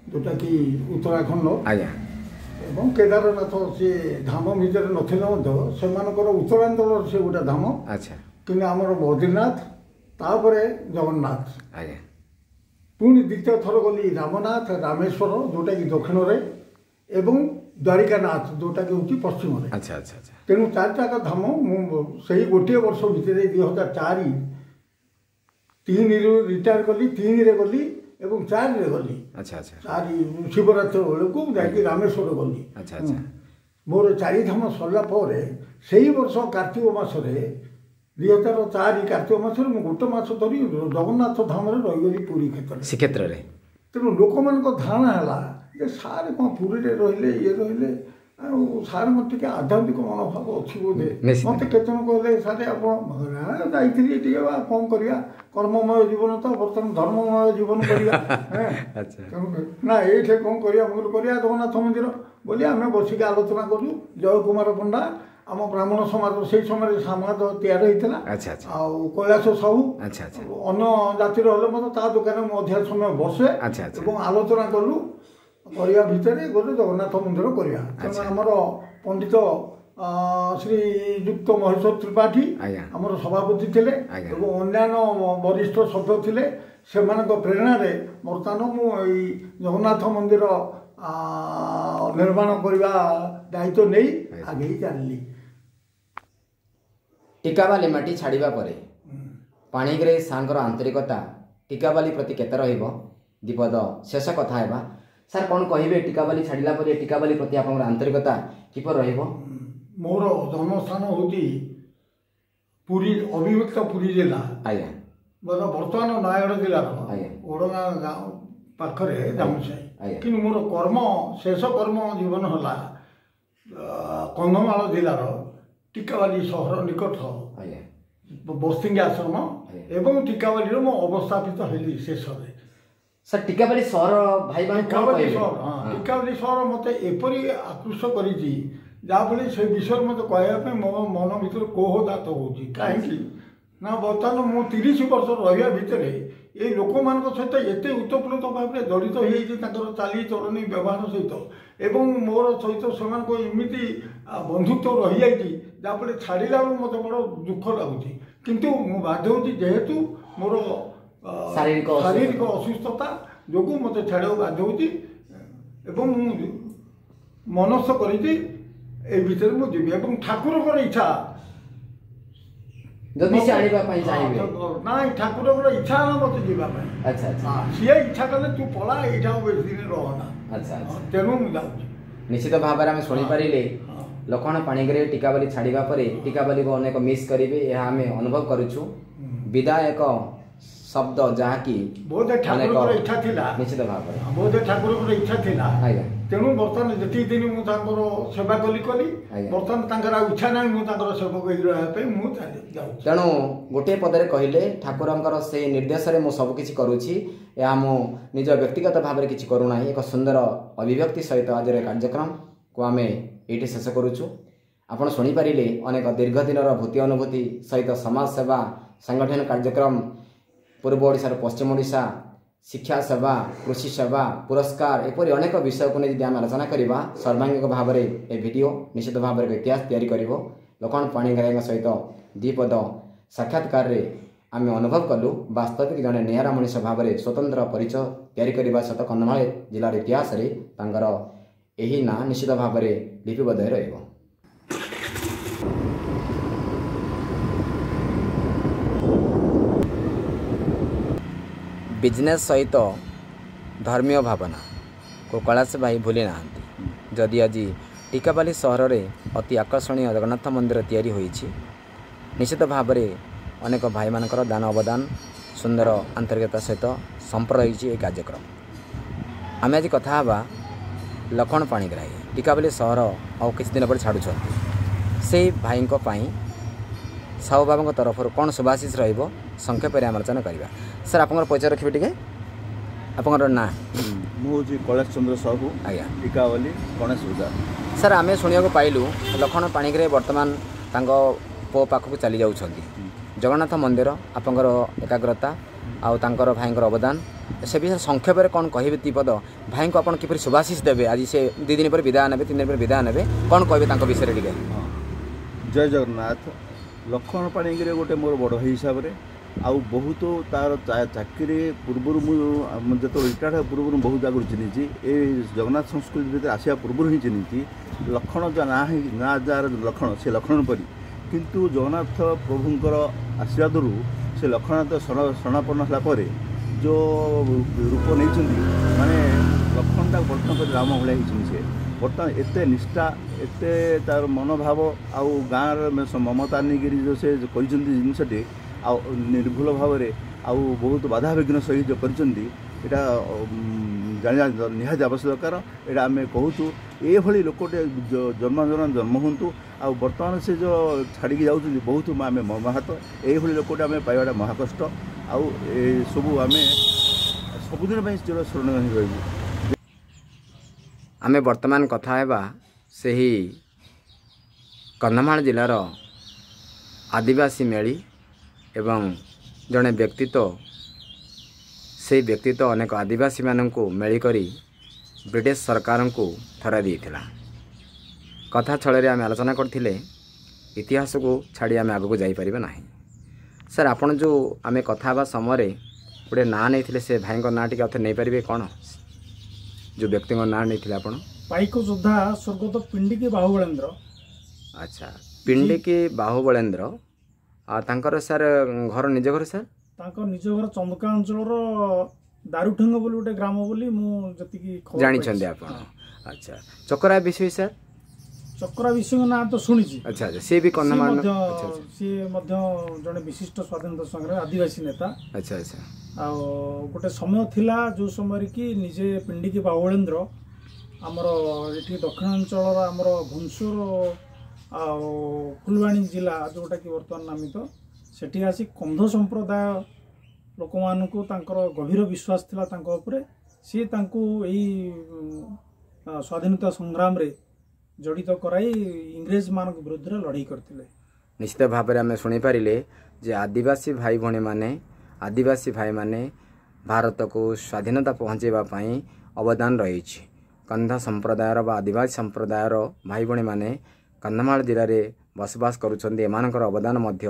ଯେଉଁଟାକି ଉତ୍ତରାଖଣ୍ଡ, ଆଜ୍ଞା, ଏବଂ କେଦାରନାଥ। ସେ ଧାମ ଭିତରେ ନଥିଲେ ମଧ୍ୟ ସେମାନଙ୍କର ଉତ୍ତରାଞ୍ଚଳର ସେ ଗୋଟେ ଧାମ। ଆଚ୍ଛା। କିନ୍ତୁ ଆମର ବଦ୍ରିନାଥ, ତାପରେ ଜଗନ୍ନାଥ, ଆଜ୍ଞା। ପୁଣି ଦ୍ୱିତୀୟ ଥର ଗଲି ରାମନାଥ, ରାମେଶ୍ୱର, ଯେଉଁଟାକି ଦକ୍ଷିଣରେ, ଏବଂ ଦ୍ୱାରିକାନାଥ, ଯେଉଁଟାକି ହେଉଛି ପଶ୍ଚିମରେ। ଆଚ୍ଛା ଆଚ୍ଛା ଆଚ୍ଛା। ତେଣୁ ଚାରିଟାକ ଧାମ ମୁଁ ସେଇ ଗୋଟିଏ ବର୍ଷ ଭିତରେ ଦୁଇ ହଜାର ଚାରି ତିନିରୁ ରିଟାୟାର କଲି, ତିନିରେ ଗଲି ଏବଂ ଚାରିରେ ଗଲି। ଆଚ୍ଛା ଆଚ୍ଛା। ଚାରି ଶିବରାତ୍ରି ବେଳକୁ ଯାଇକି ରାମେଶ୍ୱର ଗଲି। ଆଚ୍ଛା ଆଚ୍ଛା। ମୋର ଚାରିଧାମ ସରିଲା ପରେ ସେଇ ବର୍ଷ କାର୍ତ୍ତିକ ମାସରେ ଦୁଇ ହଜାର ଚାରି କାର୍ତ୍ତିକ ମାସରେ ମୁଁ ଗୋଟେ ମାସ ଧରି ଜଗନ୍ନାଥ ଧାମରେ ରହିଗଲି ପୁରୀ କ୍ଷେତ୍ରରେ, ଶ୍ରୀକ୍ଷେତ୍ରରେ। ତେଣୁ ଲୋକମାନଙ୍କ ଧାରଣା ହେଲା ଯେ ସାର୍ କ'ଣ ପୁରୀରେ ରହିଲେ, ଇଏ ରହିଲେ, ଆଉ ସାର୍ଙ୍କ ଟିକେ ଆଧ୍ୟାତ୍ମିକ ମନୋଭାବ ଅଛି ବୋଧେ। ମୋତେ କେତେ ଜଣ କହିଲେ ସାର୍ ଆପଣ ଯାଇଥିଲି ଟିକେ ବା କ'ଣ କରିବା, କର୍ମମୟ ଜୀବନ ତ ବର୍ତ୍ତମାନ ଧର୍ମମୟ ଜୀବନ କରିବା। ତେଣୁ ନା ଏଇଠି କ'ଣ କରିବା, ମୁଁ କରିବା ଜଗନ୍ନାଥ ମନ୍ଦିର ବୋଲି ଆମେ ବସିକି ଆଲୋଚନା କଲୁ। ଜୟ କୁମାର ପଣ୍ଡା ଆମ ବ୍ରାହ୍ମଣ ସମାଜ ସେଇ ସମୟରେ ସମାଜ ତିଆରି ହେଇଥିଲା, ଆଉ କୈଳାସ ସାହୁ ଅନ୍ୟ ଜାତିର ହେଲେ ମଧ୍ୟ ତା ଦୋକାନରେ ମୁଁ ଅଧିକା ସମୟ ବସେ ଏବଂ ଆଲୋଚନା କଲୁ। କରିବା ଭିତରେ ଗୋଟେ ଜଗନ୍ନାଥ ମନ୍ଦିର କରିବା। ତେଣୁ ଆମର ପଣ୍ଡିତ ଶ୍ରୀଯୁକ୍ତ ମହେଶ୍ୱର ତ୍ରିପାଠୀ ଆମର ସଭାପତି ଥିଲେ ଏବଂ ଅନ୍ୟାନ୍ୟ ବରିଷ୍ଠ ସଭ୍ୟ ଥିଲେ। ସେମାନଙ୍କ ପ୍ରେରଣାରେ ବର୍ତ୍ତମାନ ମୁଁ ଏଇ ଜଗନ୍ନାଥ ମନ୍ଦିର ନିର୍ମାଣ କରିବା ଦାୟିତ୍ୱ ନେଇ ଆଗେଇ ଚାଲିଲି। ଟିକାବାଲି ମାଟି ଛାଡ଼ିବା ପରେ ପାଣିଗ୍ରାହୀ ସାର୍ଙ୍କର ଆନ୍ତରିକତା ଟିକାବାଲି ପ୍ରତି କେତେ ରହିବ ଦ୍ୱିପଦ ଶେଷ କଥା ହେବା। ସାର୍ କ'ଣ କହିବେ, ଟିକାବାଲି ଛାଡ଼ିଲା ପରେ ଟିକାବାଲି ପ୍ରତି ଆପଣଙ୍କର ଆନ୍ତରିକତା କିପରି ରହିବ? ମୋର ଜନ୍ମସ୍ଥାନ ହେଉଛି ପୁରୀ, ଅବିଭକ୍ତ ପୁରୀ ଜିଲ୍ଲା, ଆଜ୍ଞା, ମୋର ବର୍ତ୍ତମାନ ନୟାଗଡ଼ ଜିଲ୍ଲାର ଓଡ଼ଗାଁ ଗାଁ ପାଖରେ ଜାମୁସାହି। କିନ୍ତୁ ମୋର କର୍ମ, ଶେଷ କର୍ମ ଜୀବନ ହେଲା କନ୍ଧମାଳ ଜିଲ୍ଲାର ଟିକାବାଲି ସହର ନିକଟ ବସ୍ତିଙ୍ଗି ଆଶ୍ରମ ଏବଂ ଟିକାବାଲିର ମୁଁ ଅବସ୍ଥାପିତ ହେଲି ଶେଷରେ। ସାର୍ ଟିକାବାଲି ସହର ଭାଇମାନେ ଟିକାବାଲି ସହର, ହଁ, ଟିକାବାଲି ସହର ମୋତେ ଏପରି ଆକୃଷ୍ଟ କରିଛି ଯାହାଫଳରେ ସେ ବିଷୟରେ ମୋତେ କହିବା ପାଇଁ ମୋ ମନ ଭିତରେ କୋହ ଜାତ ହେଉଛି। କାହିଁକି ନା ବର୍ତ୍ତମାନ ମୁଁ ତିରିଶ ବର୍ଷ ରହିବା ଭିତରେ ଏଇ ଲୋକମାନଙ୍କ ସହିତ ଏତେ ଓତପ୍ରୋତ ଭାବରେ ଜଡ଼ିତ ହେଇଯାଇଛି, ତାଙ୍କର ଚାଲିଚଳଣି ବ୍ୟବହାର ସହିତ ଏବଂ ମୋର ସହିତ ସେମାନଙ୍କ ଏମିତି ବନ୍ଧୁତ୍ୱ ରହିଯାଇଛି ଯାହାଫଳରେ ଛାଡ଼ିଲା ବେଳକୁ ମୋତେ ବଡ଼ ଦୁଃଖ ଲାଗୁଛି। କିନ୍ତୁ ମୁଁ ବାଧ୍ୟ ହେଉଛି, ଯେହେତୁ ମୋର ଶାରୀରିକ ଶାରୀରିକ ଅସୁସ୍ଥତା ଯୋଗୁଁ ମୋତେ ଛାଡ଼ିବାକୁ ବାଧ୍ୟ ହେଉଛି ଏବଂ ମୁଁ ମନସ୍ଥ କରିଛି ଏଇ ଭିତରେ ମୁଁ ଯିବି ଏବଂ ଠାକୁରଙ୍କର ଇଚ୍ଛା ଯଦି ସେ ଆଣିବା ପାଇଁ ଚାହିଁବେ। ନାଇଁ, ଠାକୁରଙ୍କର ଇଚ୍ଛା ହେଲା ମୋତେ ଯିବା ପାଇଁ। ଆଚ୍ଛା ଆଚ୍ଛା। ସିଏ ଇଚ୍ଛା କଲେ ତୁ ପଳା, ଏଇଠି ଆଉ ବେଶୀ ଦିନ ରହନା। ଆଚ୍ଛା ଆଚ୍ଛା। ତେଣୁ ମୁଁ ଯାଉଛି। ନିଶ୍ଚିତ ଭାବରେ ଆମେ ଶୁଣିପାରିଲେ ଲକ୍ଷ୍ମଣ ପାଣିଗ୍ରାହୀ ଟିକାବାଲି ଛାଡ଼ିବା ପରେ ଟିକାବାଲିକୁ ଅନେକ ମିସ୍ କରିବେ, ଏହା ଆମେ ଅନୁଭବ କରୁଛୁ। ବିଦାୟ ଏକ ଶବ୍ଦ ଯାହାକି ବୋଧେ ଠାକୁରଙ୍କର ଇଚ୍ଛା ଥିଲା। ନିଶ୍ଚିତ ଭାବରେ ବୋଧେ ଠାକୁରଙ୍କର ଇଚ୍ଛା ଥିଲା। ଆଜ୍ଞା। ତେଣୁ ବର୍ତ୍ତମାନ ଯେତିକି ଦିନ ମୁଁ ତାଙ୍କର ସେବା କଲି କଲି, ବର୍ତ୍ତମାନ ତାଙ୍କର ଆଉ ଇଚ୍ଛା ନାହିଁ ମୁଁ ତାଙ୍କର ସେବକ ହେଇ ରହିବା ପାଇଁ ମୁଁ ଚାଲି ଯାଉଛି। ତେଣୁ ଗୋଟିଏ ପଦରେ କହିଲେ ଠାକୁରଙ୍କର ସେଇ ନିର୍ଦ୍ଦେଶରେ ମୁଁ ସବୁକିଛି କରୁଛି, ଏହା ମୁଁ ନିଜ ବ୍ୟକ୍ତିଗତ ଭାବରେ କିଛି କରୁନାହିଁ। ଏକ ସୁନ୍ଦର ଅଭିବ୍ୟକ୍ତି ସହିତ ଆଜିର କାର୍ଯ୍ୟକ୍ରମକୁ ଆମେ ଏଇଠି ଶେଷ କରୁଛୁ। ଆପଣ ଶୁଣିପାରିଲେ ଅନେକ ଦୀର୍ଘ ଦିନର ଭୂତି ଅନୁଭୂତି ସହିତ ସମାଜ ସେବା, ସଂଗଠନ କାର୍ଯ୍ୟକ୍ରମ, ପୂର୍ବ ଓଡ଼ିଶାରୁ ପଶ୍ଚିମ ଓଡ଼ିଶା, ଶିକ୍ଷା ସେବା, କୃଷି ସେବା, ପୁରସ୍କାର, ଏପରି ଅନେକ ବିଷୟକୁ ନେଇ ଯଦି ଆମେ ଆଲୋଚନା କରିବା ସର୍ବାଙ୍ଗିକ ଭାବରେ, ଏ ଭିଡ଼ିଓ ନିଶ୍ଚିତ ଭାବରେ ଏକ ଇତିହାସ ତିଆରି କରିବ। ଲକ୍ଷ୍ମଣ ପାଣିଗ୍ରାହୀଙ୍କ ସହିତ ଦ୍ୱିପଦ ସାକ୍ଷାତକାରରେ ଆମେ ଅନୁଭବ କଲୁ ବାସ୍ତବିକ ଜଣେ ନିଆରା ମଣିଷ ଭାବରେ ସ୍ୱତନ୍ତ୍ର ପରିଚୟ ତିଆରି କରିବା ସହିତ କନ୍ଧମାଳ ଜିଲ୍ଲାର ଇତିହାସରେ ତାଙ୍କର ଏହି ନାଁ ନିଶ୍ଚିତ ଭାବରେ ଲିପିବଦ୍ଧ ହୋଇ ରହିବ। ବିଜନେସ୍ ସହିତ ଧର୍ମୀୟ ଭାବନାକୁ କୈଳାସ ଭାଇ ଭୁଲି ନାହାନ୍ତି। ଯଦି ଆଜି ଟିକାବାଲି ସହରରେ ଅତି ଆକର୍ଷଣୀୟ ଜଗନ୍ନାଥ ମନ୍ଦିର ତିଆରି ହୋଇଛି, ନିଶ୍ଚିତ ଭାବରେ ଅନେକ ଭାଇମାନଙ୍କର ଦାନ ଅବଦାନ, ସୁନ୍ଦର ଆନ୍ତରିକତା ସହିତ ସମ୍ପର୍କ ରହିଛି ଏହି କାର୍ଯ୍ୟକ୍ରମ। ଆମେ ଆଜି କଥା ହେବା ଲକ୍ଷ୍ମଣ ପାଣିଗ୍ରାହୀ ଟିକାବାଲି ସହର ଆଉ କିଛି ଦିନ ପରେ ଛାଡ଼ୁଛନ୍ତି, ସେଇ ଭାଇଙ୍କ ପାଇଁ ସାହୁ ବାବାଙ୍କ ତରଫରୁ କ'ଣ ଶୁଭାଶିଷ ରହିବ ସଂକ୍ଷେପରେ ଆମେ ଆଲୋଚନା କରିବା। ସାର୍, ଆପଣଙ୍କର ପରିଚୟ ରଖିବେ ଟିକେ, ଆପଣଙ୍କର ନାଁ? ମୁଁ ହେଉଛି କୈଳାସ ଚନ୍ଦ୍ର ସାହୁ। ଆଜ୍ଞା। ଟିକାବାଲି ଗଣେଶ ବଜାର। ସାର୍, ଆମେ ଶୁଣିବାକୁ ପାଇଲୁ ଲକ୍ଷ୍ମଣ ପାଣିଗ୍ରାହୀ ବର୍ତ୍ତମାନ ତାଙ୍କ ପୁଅ ପାଖକୁ ଚାଲି ଯାଉଛନ୍ତି। ଜଗନ୍ନାଥ ମନ୍ଦିର, ଆପଣଙ୍କର ଏକାଗ୍ରତା ଆଉ ତାଙ୍କର ଭାଇଙ୍କର ଅବଦାନ, ସେ ବିଷୟରେ ସଂକ୍ଷେପରେ କ'ଣ କହିବେ ଦ୍ୱିପଦ? ଭାଇଙ୍କୁ ଆପଣ କିପରି ଶୁଭାଶିଷ ଦେବେ? ଆଜି ସେ ଦୁଇ ଦିନ ପରେ ବିଦାୟ ନେବେ, ତିନି ଦିନ ପରେ ବିଦାୟ ନେବେ, କ'ଣ କହିବେ ତାଙ୍କ ବିଷୟରେ ଟିକେ? ହଁ, ଜୟ ଜଗନ୍ନାଥ। ଲକ୍ଷ୍ମଣ ପାଣିଗ୍ରାହୀ ଗୋଟେ ମୋର ବଡ଼ ଭାଇ ହିସାବରେ, ଆଉ ବହୁତ ତାର ଚାକିରି ପୂର୍ବରୁ, ମୁଁ ଯେତେବେଳେ ରିଟାୟାର୍ଡ଼ ହେବା ପୂର୍ବରୁ ବହୁତ ଆଗରୁ ଚିହ୍ନିଛି। ଏ ଜଗନ୍ନାଥ ସଂସ୍କୃତି ଭିତରେ ଆସିବା ପୂର୍ବରୁ ହିଁ ଚିହ୍ନିଛି। ଲକ୍ଷ୍ମଣ ଯାହା ନାଁ, ନାଁ ଯାହାର ଲକ୍ଷ୍ମଣ, ସେ ଲକ୍ଷ୍ମଣ ପରି, କିନ୍ତୁ ଜଗନ୍ନାଥ ପ୍ରଭୁଙ୍କର ଆଶୀର୍ବାଦରୁ ସେ ଲକ୍ଷ୍ମଣନାଥ ଶରଣାପନ୍ନ ହେଲା ପରେ ଯେଉଁ ରୂପ ନେଇଛନ୍ତି, ମାନେ ଲକ୍ଷ୍ମଣଟା ବର୍ତ୍ତମାନ କରି ରାମ ଭଳିଆ ହେଇଛନ୍ତି ସେ। ବର୍ତ୍ତମାନ ଏତେ ନିଷ୍ଠା, ଏତେ ତାର ମନୋଭାବ ଆଉ ଗାଁର ମମତା ନେଇକରି ଯେଉଁ ସେ କରିଛନ୍ତି ଜିନିଷଟି, ଆଉ ନିର୍ଭୁଲ ଭାବରେ ଆଉ ବହୁତ ବାଧାବିଘ୍ନ ସହିତ ଯେଉଁ କରିଛନ୍ତି, ଏଇଟା ଜାଣିବା ନିହାତି ଆବଶ୍ୟକ ଦରକାର। ଏଇଟା ଆମେ କହୁଛୁ, ଏଭଳି ଲୋକଟେ ଜନ୍ମ ଜନ୍ମ ଜନ୍ମ ହୁଅନ୍ତୁ। ଆଉ ବର୍ତ୍ତମାନ ସେ ଯେଉଁ ଛାଡ଼ିକି ଯାଉଛନ୍ତି, ବହୁତ ଆମେ ମର୍ମାହତ। ଏଇଭଳି ଲୋକଟେ ଆମେ ପାଇବାଟା ମହାକଷ୍ଟ, ଆଉ ଏସବୁ ଆମେ ସବୁଦିନ ପାଇଁ ଚିର ସ୍ମରଣୀୟ ହୋଇ ରହିବୁ। ଆମେ ବର୍ତ୍ତମାନ କଥା ହେବା ସେହି କନ୍ଧମାଳ ଜିଲ୍ଲାର ଆଦିବାସୀ ମେଳି ଏବଂ ଜଣେ ବ୍ୟକ୍ତିତ୍ୱ। ସେହି ବ୍ୟକ୍ତିତ୍ୱ ଅନେକ ଆଦିବାସୀମାନଙ୍କୁ ମେଳି କରି ବ୍ରିଟିଶ ସରକାରଙ୍କୁ ଥରାଇ ଦେଇଥିଲା। କଥା ଛଳରେ ଆମେ ଆଲୋଚନା କରିଥିଲେ, ଇତିହାସକୁ ଛାଡ଼ି ଆମେ ଆଗକୁ ଯାଇପାରିବା ନାହିଁ। ସାର୍, ଆପଣ ଯେଉଁ ଆମେ କଥା ହେବା ସମୟରେ ଗୋଟେ ନାଁ ନେଇଥିଲେ, ସେ ଭାଇଙ୍କ ନାଁ ଟିକେ ଆଉ ଥରେ ନେଇପାରିବେ? କ'ଣ ଯେଉଁ ବ୍ୟକ୍ତିଙ୍କ ନାଁ ନେଇଥିଲେ ଆପଣ? ପାଇକ ଯୋଦ୍ଧା ସ୍ୱର୍ଗତ ପିଣ୍ଡିକି ବାହୁବଳେନ୍ଦ୍ର। ଆଚ୍ଛା, ପିଣ୍ଡିକି ବାହୁବଳେନ୍ଦ୍ର। ଆଉ ତାଙ୍କର ସାର୍ ଘର, ନିଜ ଘର ସାର୍? ତାଙ୍କ ନିଜ ଘର ଚନ୍ଦକା ଅଞ୍ଚଳର ଦାରୁଠେଙ୍ଗ ବୋଲି ଗୋଟେ ଗ୍ରାମ ବୋଲି ମୁଁ ଯେତିକି ଜାଣିଛନ୍ତି ଆପଣ। ଆଚ୍ଛା, ଚକରା ବିଷୟ ସାର୍? ଚକରା ବିଷୟଙ୍କ ନାଁ ତ ଶୁଣିଛି। ଆଚ୍ଛା ଆଚ୍ଛା, ସିଏ ବି କନ୍ଧମାଳ? ସିଏ ମଧ୍ୟ ଜଣେ ବିଶିଷ୍ଟ ସ୍ୱାଧୀନତା ସଂଗ୍ରାମୀ ଆଦିବାସୀ ନେତା। ଆଚ୍ଛା ଆଚ୍ଛା। ଆଉ ଗୋଟେ ସମୟ ଥିଲା ଯେଉଁ ସମୟରେ କି ନିଜେ ପିଣ୍ଡିକି ବାହୁଳେନ୍ଦ୍ର ଆମର ଏଠି ଦକ୍ଷିଣାଞ୍ଚଳର ଆମର ଘୁମସୁର ଆଉ ଫୁଲବାଣୀ ଜିଲ୍ଲା ଯେଉଁଟାକି ବର୍ତ୍ତମାନ ନାମିତ, ସେଠି ଆସି କନ୍ଧ ସମ୍ପ୍ରଦାୟ ଲୋକମାନଙ୍କୁ ତାଙ୍କର ଗଭୀର ବିଶ୍ୱାସ ଥିଲା ତାଙ୍କ ଉପରେ। ସିଏ ତାଙ୍କୁ ଏଇ ସ୍ୱାଧୀନତା ସଂଗ୍ରାମରେ ଜଡ଼ିତ କରାଇ ଇଂରେଜମାନଙ୍କ ବିରୁଦ୍ଧରେ ଲଢ଼େଇ କରିଥିଲେ। ନିଶ୍ଚିତ ଭାବରେ ଆମେ ଶୁଣିପାରିଲେ ଯେ ଆଦିବାସୀ ଭାଇ ଭଉଣୀମାନେ, ଆଦିବାସୀ ଭାଇମାନେ ଭାରତକୁ ସ୍ୱାଧୀନତା ପହଞ୍ଚାଇବା ପାଇଁ ଅବଦାନ ରହିଛି। କନ୍ଧ ସମ୍ପ୍ରଦାୟର ବା ଆଦିବାସୀ ସମ୍ପ୍ରଦାୟର ଭାଇ ଭଉଣୀମାନେ କନ୍ଧମାଳ ଜିଲ୍ଲାରେ ବସବାସ କରୁଛନ୍ତି, ଏମାନଙ୍କର ଅବଦାନ ମଧ୍ୟ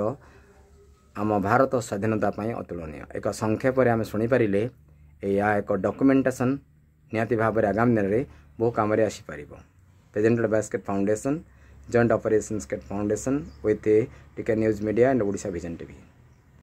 ଆମ ଭାରତ ସ୍ୱାଧୀନତା ପାଇଁ ଅତୁଳନୀୟ। ଏକ ସଂକ୍ଷେପରେ ଆମେ ଶୁଣିପାରିଲେ, ଏହା ଏକ ଡକୁମେଣ୍ଟେସନ୍ ନିହାତି ଭାବରେ ଆଗାମୀ ଦିନରେ ବହୁ କାମରେ ଆସିପାରିବ। Presented by State Foundation, Joint Operations State Foundation with Tika News Media and Odisha Vision T V.